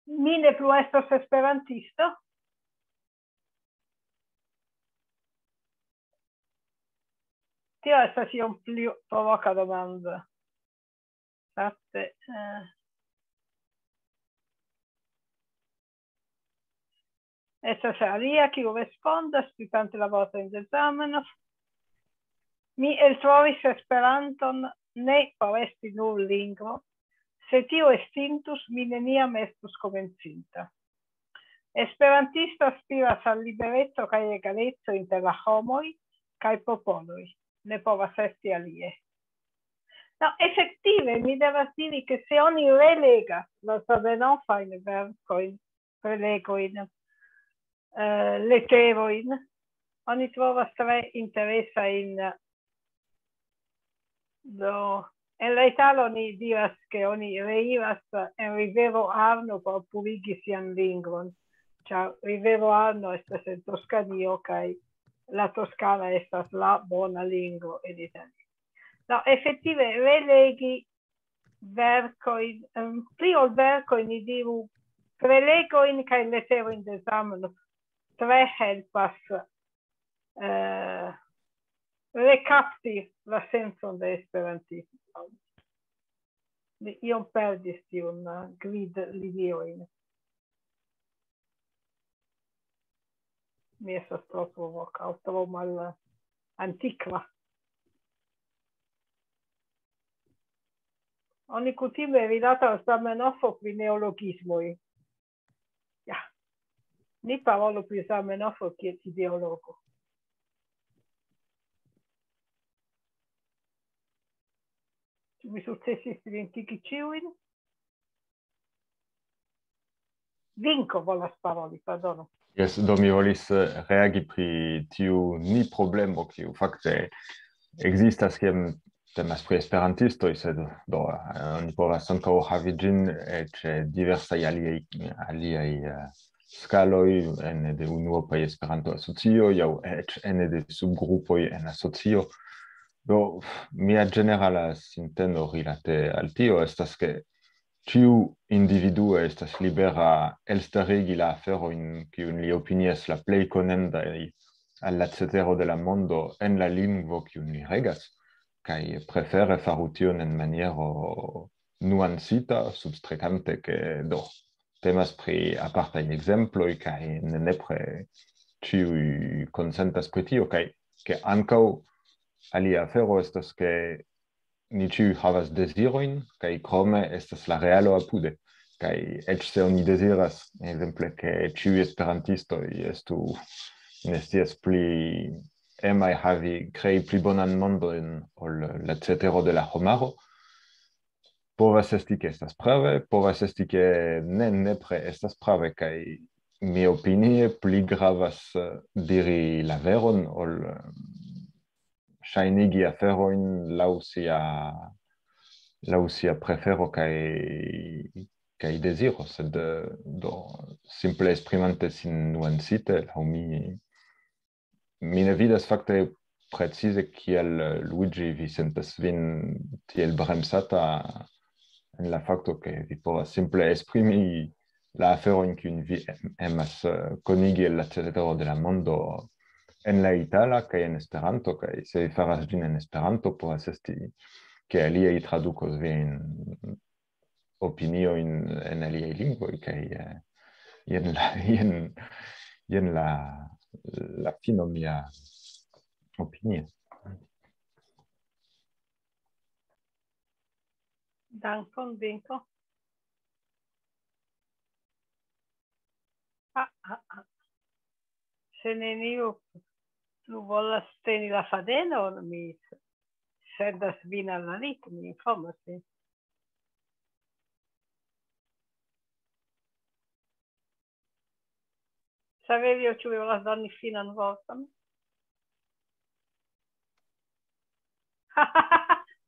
mi ne plu estos esperantisto. Tio estas iom pli provoka demando. Fakte, eh, estas alia, kiu respondas, pripante la vortojn de Zamenhof. Mi eltrovis Esperanton ne por esti nur lingvo. Se tio estintus, mi neniam estus komencinta. Esperantisto aspiras al libereco kaj egaleco inter la homoj kaj popoloj. Ne povas esti alie. No, efektive, mi devas diri, ke se oni relegas la Zamenhofajn verkojn, prelegojn, eh, leterojn, oni trovas tre interesajn. Do, en la italo ni diras, ke oni reiras en rivero Arno por purigi sian lingvon, ĉar rivero Arno estas en Toskanio kaj la toskana estas la bona lingvo en Italio. No, efektive, relegi verkojn, em, pli ol verkojn, ni diru, prelegojn kaj leterojn de Zamenhof tre helpas, eh, rekapti la sencon de esperantismo. Mi iom perdis tiun, eh, gvidliniojn. Mi estas tro provoka aŭ tro mal antikva. Oni kutime rilatas Zamenhofo pri neologismoj. Ja. Ni parolu pri Zamenhofo kiel ideologo. Ĉu mi sukcesis identigi ĉiujn? Vinko volas paroli, pardonu. Jes, do mi volis, eh, reagi pri tiu ni problemo, kiu fakte ekzistas, kiam temas pri esperantistoj, sed do, eh, oni povas ankaŭ havi ĝin, eh, ĉe diversaj aliaj, aliaj, eh, skaloj ene de unuopaj Esperanto-asocioj aŭ eĉ ene de subgrupoj en asocio. Do, mia ĝenerala sinteno rilate al tio estas, ke ĉiu individuo estas libera elstarigi la aferojn, kiujn li opinias la plej konendaj al la cetero de la mondo en la lingvo, kiun li regas, kaj prefere faru tion en maniero nuancita, substrekante, ke do temas pri apartaj ekzemploj, kaj ne nepre ĉiuj konsentas pri tio, kaj ke ankaŭ alia afero estas, ke ni ĉiuj havas dezirojn, kaj krome estas la realo apude. Kaj eĉ se oni deziras, ekzemple, ke ĉiuj esperantistoj estu, ne scias, pli emaj havi, krei pli bonan mondon ol la cetero de la homaro, povas esti, ke estas prave, povas esti, ke ne nepre estas prave, kaj mi opinie pli gravas, eh, diri la veron ol, eh, ŝajnigi aferojn laŭ sia, laŭ sia prefero kaj, kaj deziro, sed, eh, do, simple esprimante sin nuancite, laŭ mi, mi ne vidas fakte precize kiel, eh, Luigi, vi sentas vin tiel bremsata en la fakto, ke vi povas simple esprimi la aferojn, kiujn vi em-, emas, eh, konigi el la cetero de la mondo en la itala kaj en Esperanto, kaj se vi faras ĝin en Esperanto, povas esti, ke aliaj tradukos viajn opiniojn en aliaj lingvoj, kaj, eh, jen la, jen, jen la, la fino mia opinio. Dankon, Vinko. Ah, ah, ah. Se neniu plu volas teni la fadenon, mi sendas vin al la lit, mi informas vin. Saverio, ĉu vi volas doni finan vorton?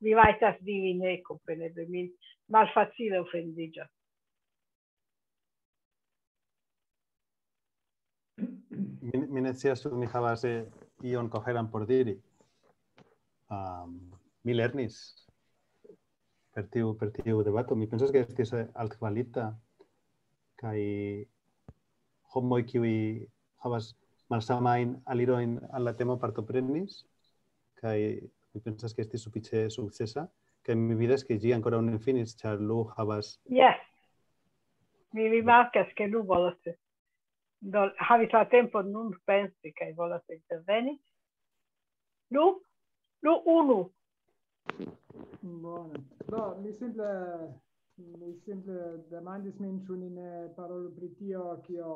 Vi rajtas diri ne, kompreneble, mi malfacile ofendiĝas. Mi, mi ne scias, ĉu mi havas eh, ion koheran por diri. Um, mi lernis per tiu, per tiu debato. Mi pensas, ke estis eh, altkvalita, kaj homoj, kiuj havas malsamajn alirojn al la temo, partoprenis, kaj mi pensas, ke estis sufiĉe sukcesa, kaj mi vidas, ke ĝi ankoraŭ ne finis, ĉar Lu havas... Yes. Mi rimarkas, ke Lu volas, do, havis la tempon nun pensi kaj volas interveni. Lu, Lu unu. Bone. Do, mi simple, mi simple demandis min, ĉu ni ne parolu pri tio, kio,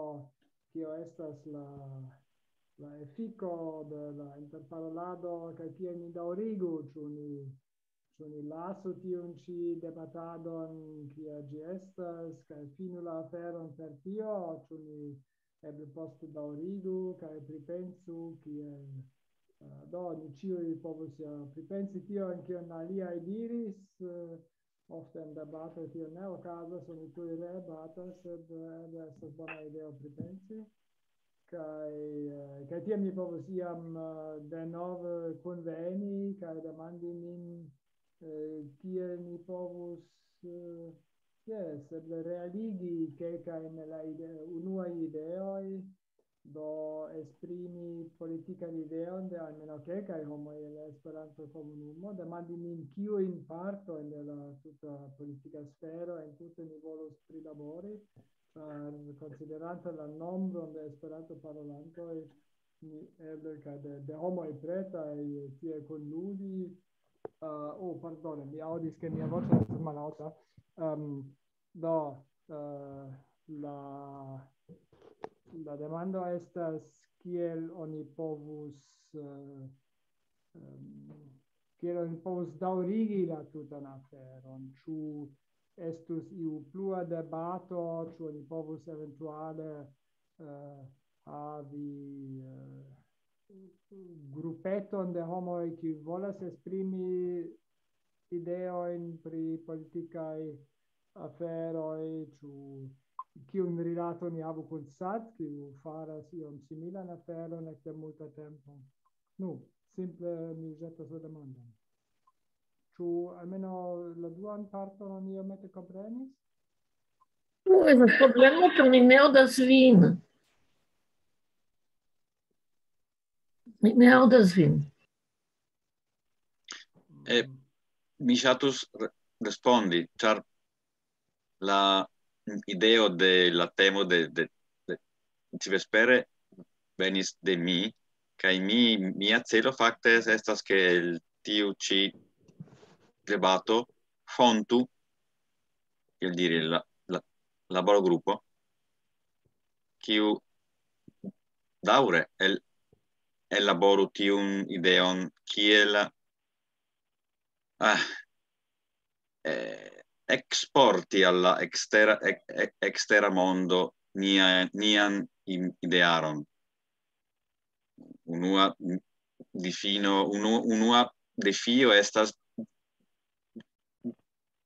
kio estas la, la efiko de la interparolado, kaj kiel ni daŭrigu, ĉu ni, ĉu ni lasu tiun ĉi debatadon, kia ĝi estas, kaj finu la aferon per tio, ĉu ni eble poste daŭrigu, kaj pripensu, kiel, eh, do, ni ĉiuj povus ja pripensi tion, kion aliaj diris, eh, ofte en debatoj tio ne okazas, oni tuj rebatas, sed, eh, eble estas bona ideo pripensi. Kaj, eh, kaj tiam ni povus iam, eh, denove kunveni kaj demandi nin, eh, kiel ni povus, eh, jes, eble realigi kelkajn el la ide-, unuaj ideoj, do esprimi politikan ideon de almenaŭ kelkaj homoj el la Esperanto-komunumo, demandi nin, kiujn partojn de la tuta politika sfero entute ni volus prilabori, ĉar konsiderante la nombron de Esperanto-parolantoj, ni eble kaj de, de homoj pretaj tie kunludi. Uh, oh, pardone, mi aŭdis, ke mia voĉo estas malaŭta. Um, do, uh, la, la demando estas, kiel oni povus, uh, um, kiel oni povus daŭrigi la tutan aferon. Ĉu estus iu plua debato, ĉu oni povus eventuale, eh, havi, eh, grupeton de homoj, kiuj volas esprimi ideojn pri politikaj aferoj, ĉu kiun rilaton ni havu kun SAT, kiu faras iom similan aferon ekde multa tempo. Nu, simple mi ĵetas la demandon. Ĉu almenaŭ la duan parton oni iomete komprenis? Nu, estas problemo, ĉar mi ne aŭdas vin. Mi ne aŭdas vin. Eh, mi ŝatus re-, respondi, ĉar la ideo de la temo de, de, de ĉi vespere venis de mi, kaj mi, mia celo fakte estas, ke el tiu ĉi debato fontu, kiel diri, la, la laborgrupo, kiu daŭre el, elaboru tiun ideon kiel, ah, eh, eksporti al la ekstera, ek-, ek-, ekstera mondo nia, nian im-, idearon. Unua difino, unu-, unua defio estas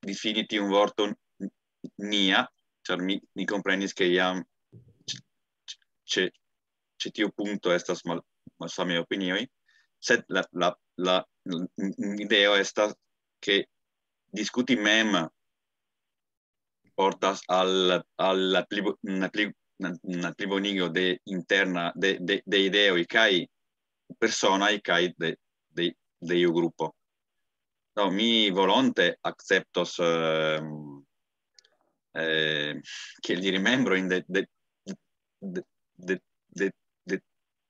difini tiun vorton nia, ĉar mi, mi komprenis, ke jam ĉe, ĉe tiu punkto estas mal-, malsamaj opinioj, sed la, la, la, l-, ideo estas, ke diskuti mem portas al, al la pli bo-, la pli, la, la plibonigo de interna, de, de, de ideoj kaj personaj kaj de, de, de iu grupo. No, mi volonte akceptos, ehm, eh, kiel diri, membrojn de, de, de, de, de, de,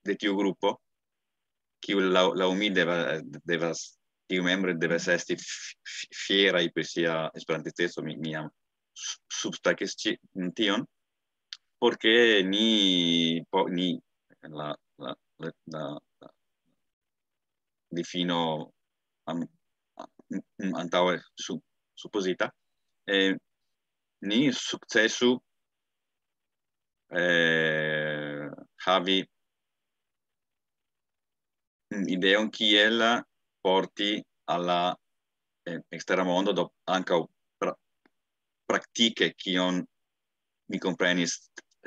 de tiu grupo, kiu laŭ, laŭ mi deva-, devas, tiu membro devas esti f-, f-, fieraj pri sia esperantisteco, mi, mi jam su-, substakis ĉi tion, porque ni, po-, ni, la, la, la, la, la difino an-, an-, antaŭe su-, supozita, eh, ni sukcesu, eh, havi, mm, ideon kiel porti al la, eh, ekstera mondo, do ankaŭ pra-, praktike kion mi komprenis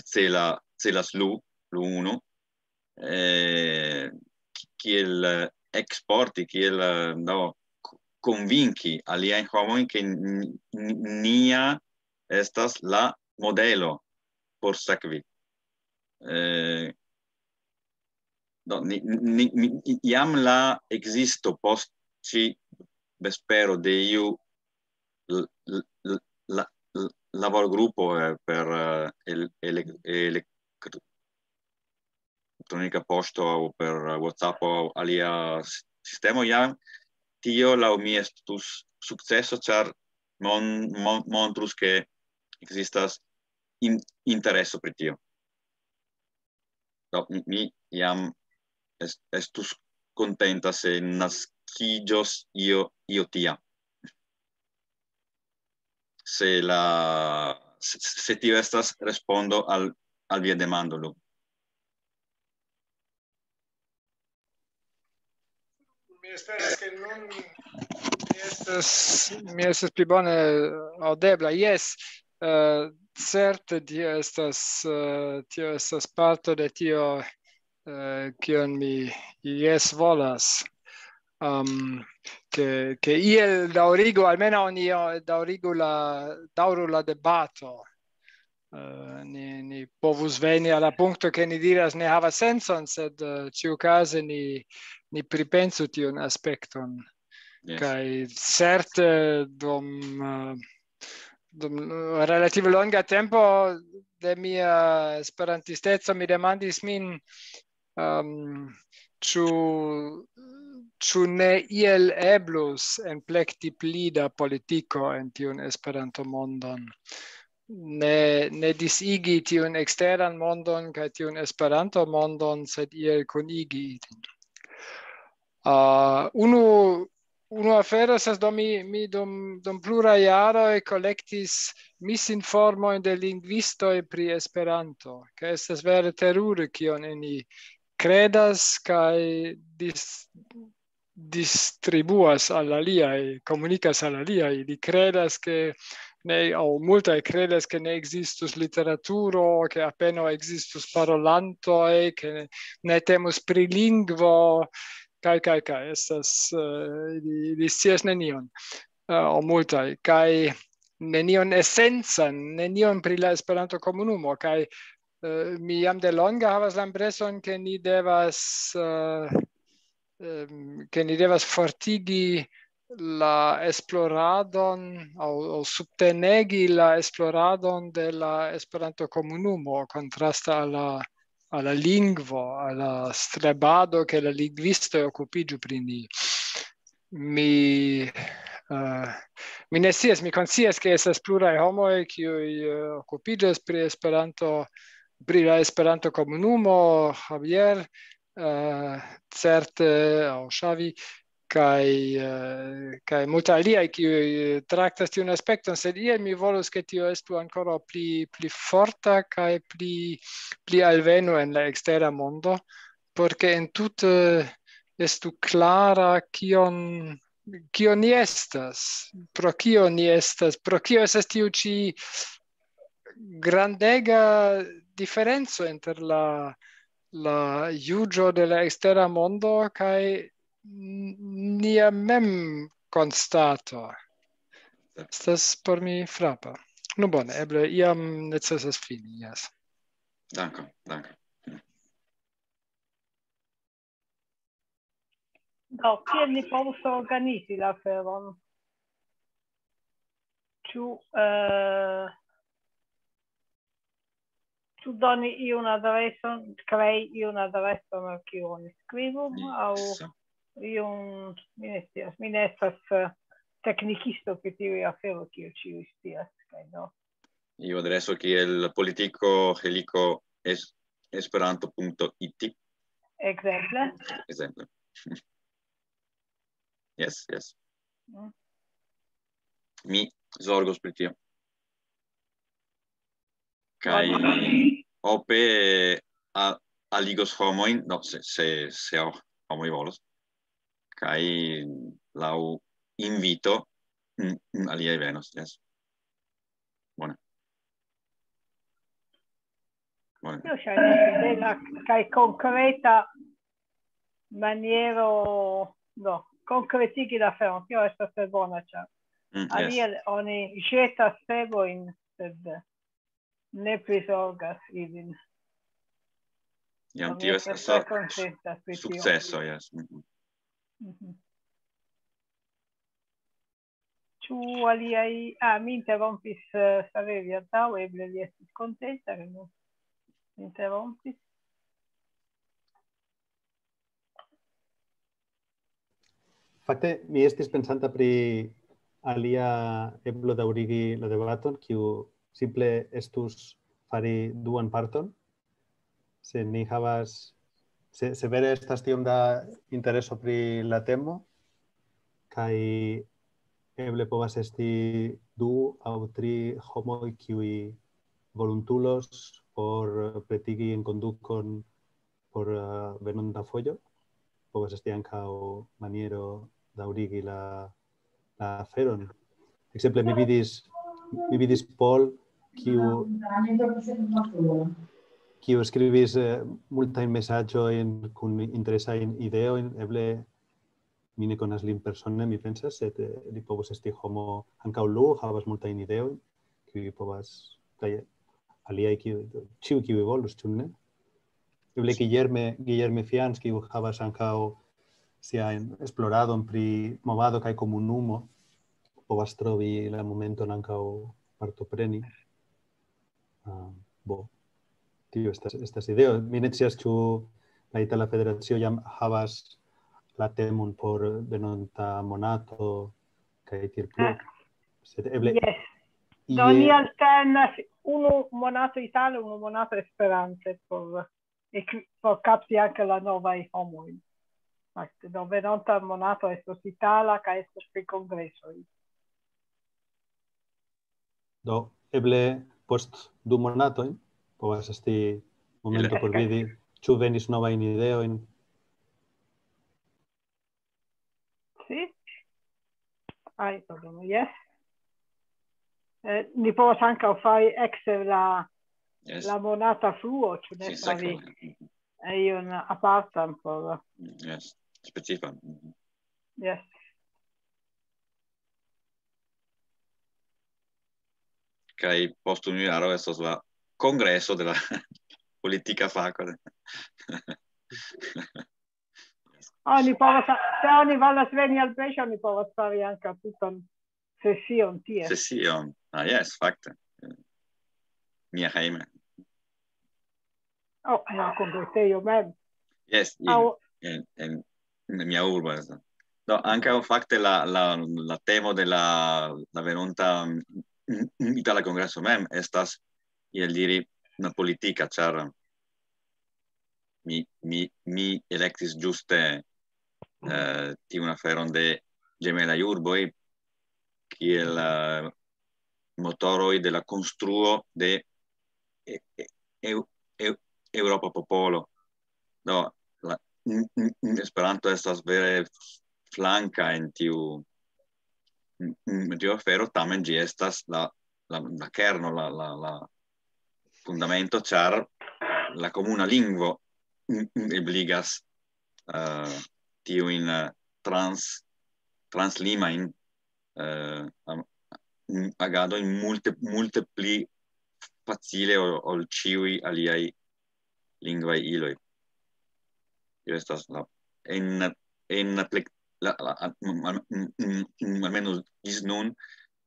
cela-, celas Lu, Lu unu, eh, ki-, kiel, eh, eksporti, kiel, eh, no, k-, konvinki aliajn homojn, ke n-, n-, nia estas la modelo por sekvi. Eh, do, ni, ni, ni, jam la ekzisto post ĉi vespero de iu l-, l-, l-, la, l-, laborgrupo, eh, per, eh, el-, ele-, elektro-, elektronika poŝto aŭ per WhatsApp aŭ alia s-, sistemo, jam tio laŭ mi estus sukceso, ĉar mon-, mon-, montrus, ke ekzistas in-, intereso pri tio. Do, mi, mi jam est-, estus kontenta se naskiĝos io, io tia. Se la, se, se tio estas respondo al, al via demando, Lu. Mi esperas, ke nun mi estas, mi estas pli bone aŭdebla. Jes, eh, certe tio estas, eh, tio estas parto de tio, eh, kion mi jes volas. Um, ke, ke iel daŭrigu, almenaŭ ni, eh, daŭrigu la, daŭru la debato. Eh, ni, ni povus veni al la punkto, ke ni diras ne havas sencon, sed, eh, ĉiukaze ni, ni pripensu tiun aspekton. Yes. Kaj certe dum, eh, dum relative longa tempo de mia esperantisteco mi demandis min, ehm, ĉu, ĉu ne iel eblus enplekti pli da politiko en tiun Esperanto-mondon. Ne, ne disigi tiun eksteran mondon kaj tiun Esperanto-mondon, sed iel kunigi ilin. Ah, unu, unu afero estas, do mi, mi dum, dum pluraj jaroj kolektis misinformojn de lingvistoj pri Esperanto, ke estas vere terure, kion ili kredas kaj dis-, distribuas al aliaj, komunikas al aliaj. Ili kredas, ke ne, aŭ multaj kredas, ke ne ekzistus literaturo, ke apenaŭ ekzistus parolantoj, ke ne, ne temus pri lingvo, kaj, kaj, kaj, estas, eh, ili, ili scias nenion, eh, aŭ multaj, kaj nenion esencan, nenion pri la Esperanto-komunumo, kaj, eh, mi jam de longa havas la impreson, ke ni devas, eh, em, ke ni devas fortigi la esploradon aŭ, aŭ subtenegi la esploradon de la Esperanto-komunumo kontraste al la, al la lingvo, al la strebado, ke la lingvistoj okupiĝu pri ni. Mi, eh, mi ne scias, mi konscias, ke estas pluraj homoj, kiuj, eh, okupiĝas pri Esperanto, pri la Esperanto-komunumo, Javier, eh, certe, aŭ Xavi, kaj, eh, kaj multaj aliaj, kiuj traktas tiun aspekton, sed iel mi volus, ke tio estu ankoraŭ pli, pli forta kaj pli, pli alvenu en la ekstera mondo, por ke entute estu klara, kion, kio ni estas, pro kio ni estas, pro kio estas tiu ĉi grandega diferenco inter la, la juĝo de la ekstera mondo kaj n-, nia mem konstato. Estas por mi frapa. Nu bone, eble iam necesas fini, jes. Dankon, dankon. Do, kiel ni povus organizi la aferon? Ĉu, eh, ĉu doni iun adreson, krei iun adreson al kiu oni skribu, Ni-, aŭ sa-, iun, mi ne scias, mi ne estas, eh, teknikisto pri tiuj aferoj, kiel ĉiuj scias, kaj do. Iu adreso kiel politiko heliko es-, esperanto.it, Ekzemple. ekzemple. Jes, jes. Mm. Mi zorgos pri tio. Kaj Bone. Ope a-, aligos homojn, no, se, se, se ho-, homoj volos, kaj laŭ invito, mm, mm, aliaj venos, yes. Bone. Bone. Tio ŝajnas bela kaj konkreta maniero, no, konkretigi la aferon. Tio estas tre bona, ĉar Mm, yes. Alie oni ĵetas pebojn, sed ne prizorgas ilin. Jam Mi tio estas estas tre su-, kontenta pri tio. Sukceso, yes. Mhm. Mhm. Ĉu aliaj, ah, mi interrompis, eh, Saverio antaŭ, eble li estis kontenta, ke mi interrompis. Fakte, mi estis pensanta pri alia eblo daŭrigi la debaton, kiu simple estus fari duan parton. Se ni havas, se, se vere estas tiom da intereso pri la temo, kaj eble povas esti du aŭ tri homoj, kiuj volontulos por pretigi enkondukon por, eh, venonta fojo. Povas esti ankaŭ maniero daŭrigi la, la aferon. Ekzemple, mi vidis, mi vidis Paul, kiu, kiu skribis, eh, multajn mesaĝojn kun interesajn ideojn. Eble mi ne konas lin persone, mi pensas, sed, eh, li povus esti homo, ankaŭ Lu havas multajn ideojn, kiuj povas, kaj aliaj, kiu, ĉiu, kiu volus, ĉu ne? Eble Guillerme, Guillerme Fians, kiu havas ankaŭ sian esploradon pri movado kaj komunumo, povas trovi la momenton ankaŭ partopreni. Ah, bo, tio estas, estas ideo. Mi ne scias, ĉu la Itala Federacio jam havas la temon por venonta monato kaj tiel plu. Ah. Sed eble Yes. ie- Do ni alternas unu monato itale, unu monato esperante por, e ki-, por kapti ankaŭ la novaj homoj. Fakte, do venonta monato estos itala kaj estos pri kongresoj. Do, eble post du monatojn povas esti momento por vidi, ĉu venis novajn ideojn. Sì? Ai, pardon, yes. Eh, ni povas ankaŭ fari ekse la, Yes. la monata fluo, ĉu ne Sì, savi sekve. iun apartan por, Yes. Specifan. Mhm. Yes. Kaj post unu jaro estos la kongreso de la politika fako. Oni povas, se oni volas veni al Breŝo, oni povas fari ankaŭ tutan sesion tie. Sesion. Ah, yes, fakte. Mia hejme. Oh, en la kongresejo mem. Yes, in, Aŭ, en, en, en mia urbo estas. Do, ankaŭ fakte la, la, la temo de la, la venonta, mm, mm, Itala Kongreso mem estas, iel diri, la politika, ĉar mi, mi, mi elektis ĝuste, eh, tiun aferon de ĝemelaj urboj kiel, eh, motoroj de la konstruo de e-, e-, eu-, eu-, Eŭropa popolo. Do, la, mm, mm, mm, Esperanto estas vere flanka en tiu, mm, mm, tiu afero, tamen ĝi estas la, la, la kerno, la, la, la fundamento, ĉar la komuna lingvo, mm, mm, ebligas, eh, tiujn, eh, trans-, translimajn, eh, am-, mm, agadojn multe, multe pli facile ol, ol ĉiuj aliaj lingvaj iloj. Tio estas la, en, en la plek-, la, la, al-, al-, mm, mm, almenos ĝis nun,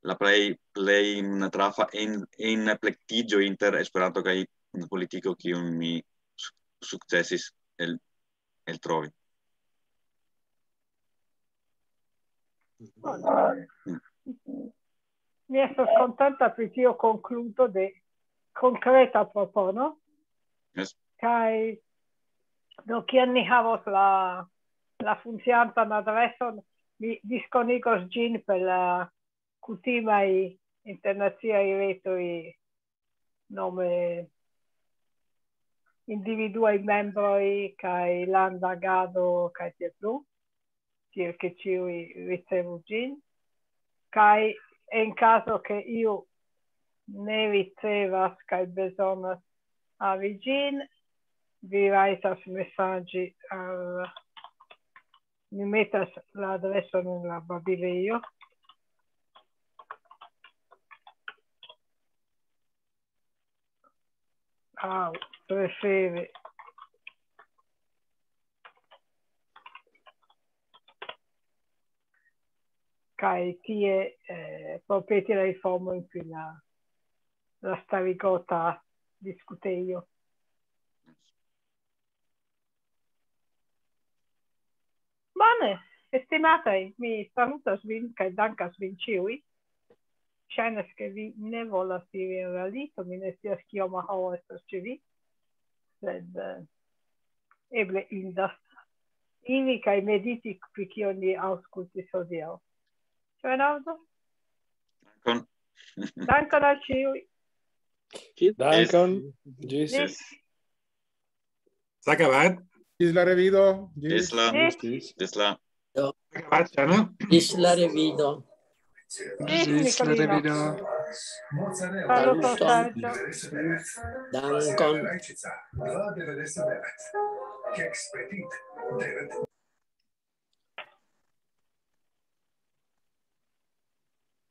la plej, plej trafa en, en plektiĝo inter Esperanto kaj politiko, kiun mi su-, sukcesis el, eltrovi. Mi estas kontenta pri tio konkludo de konkreta propono. Yes. Kaj do, kiam ni havos la, la funkciantan adreson, mi diskonigos ĝin per la kutimaj internaciaj retoj, nome individuaj membroj kaj landa agado kaj tiel plu, tiel ke ĉiuj ricevu ĝin. Kaj en kazo ke iu ne ricevas kaj bezonas havi ĝin, vi rajtas mesaĝi al, mi metas la adreson en la babilejo. Aŭ prefere. Kaj tie eh, propeti la informojn pri la, la starigota diskutejo. Bone, estimataj, mi salutas vin kaj dankas vin ĉiuj. Ŝajnas, ke vi ne volas iri en la lito, mi ne scias kioma horo estas ĉe vi, sed eh, eble indas iri kaj mediti pri kio ni aŭskultis hodiaŭ. Ĉu Leonardo? Dankon. Dankon al ĉiuj. Dankon. Ĝis. Ĝis. S'ha acabat. Ĝis la revido. Ĝis la. Ĝis. Ĝis la. S'ha acabat, Xana. Ĝis la revido. Ĝis, Nicolino. Saluto, Sergio. Dankon.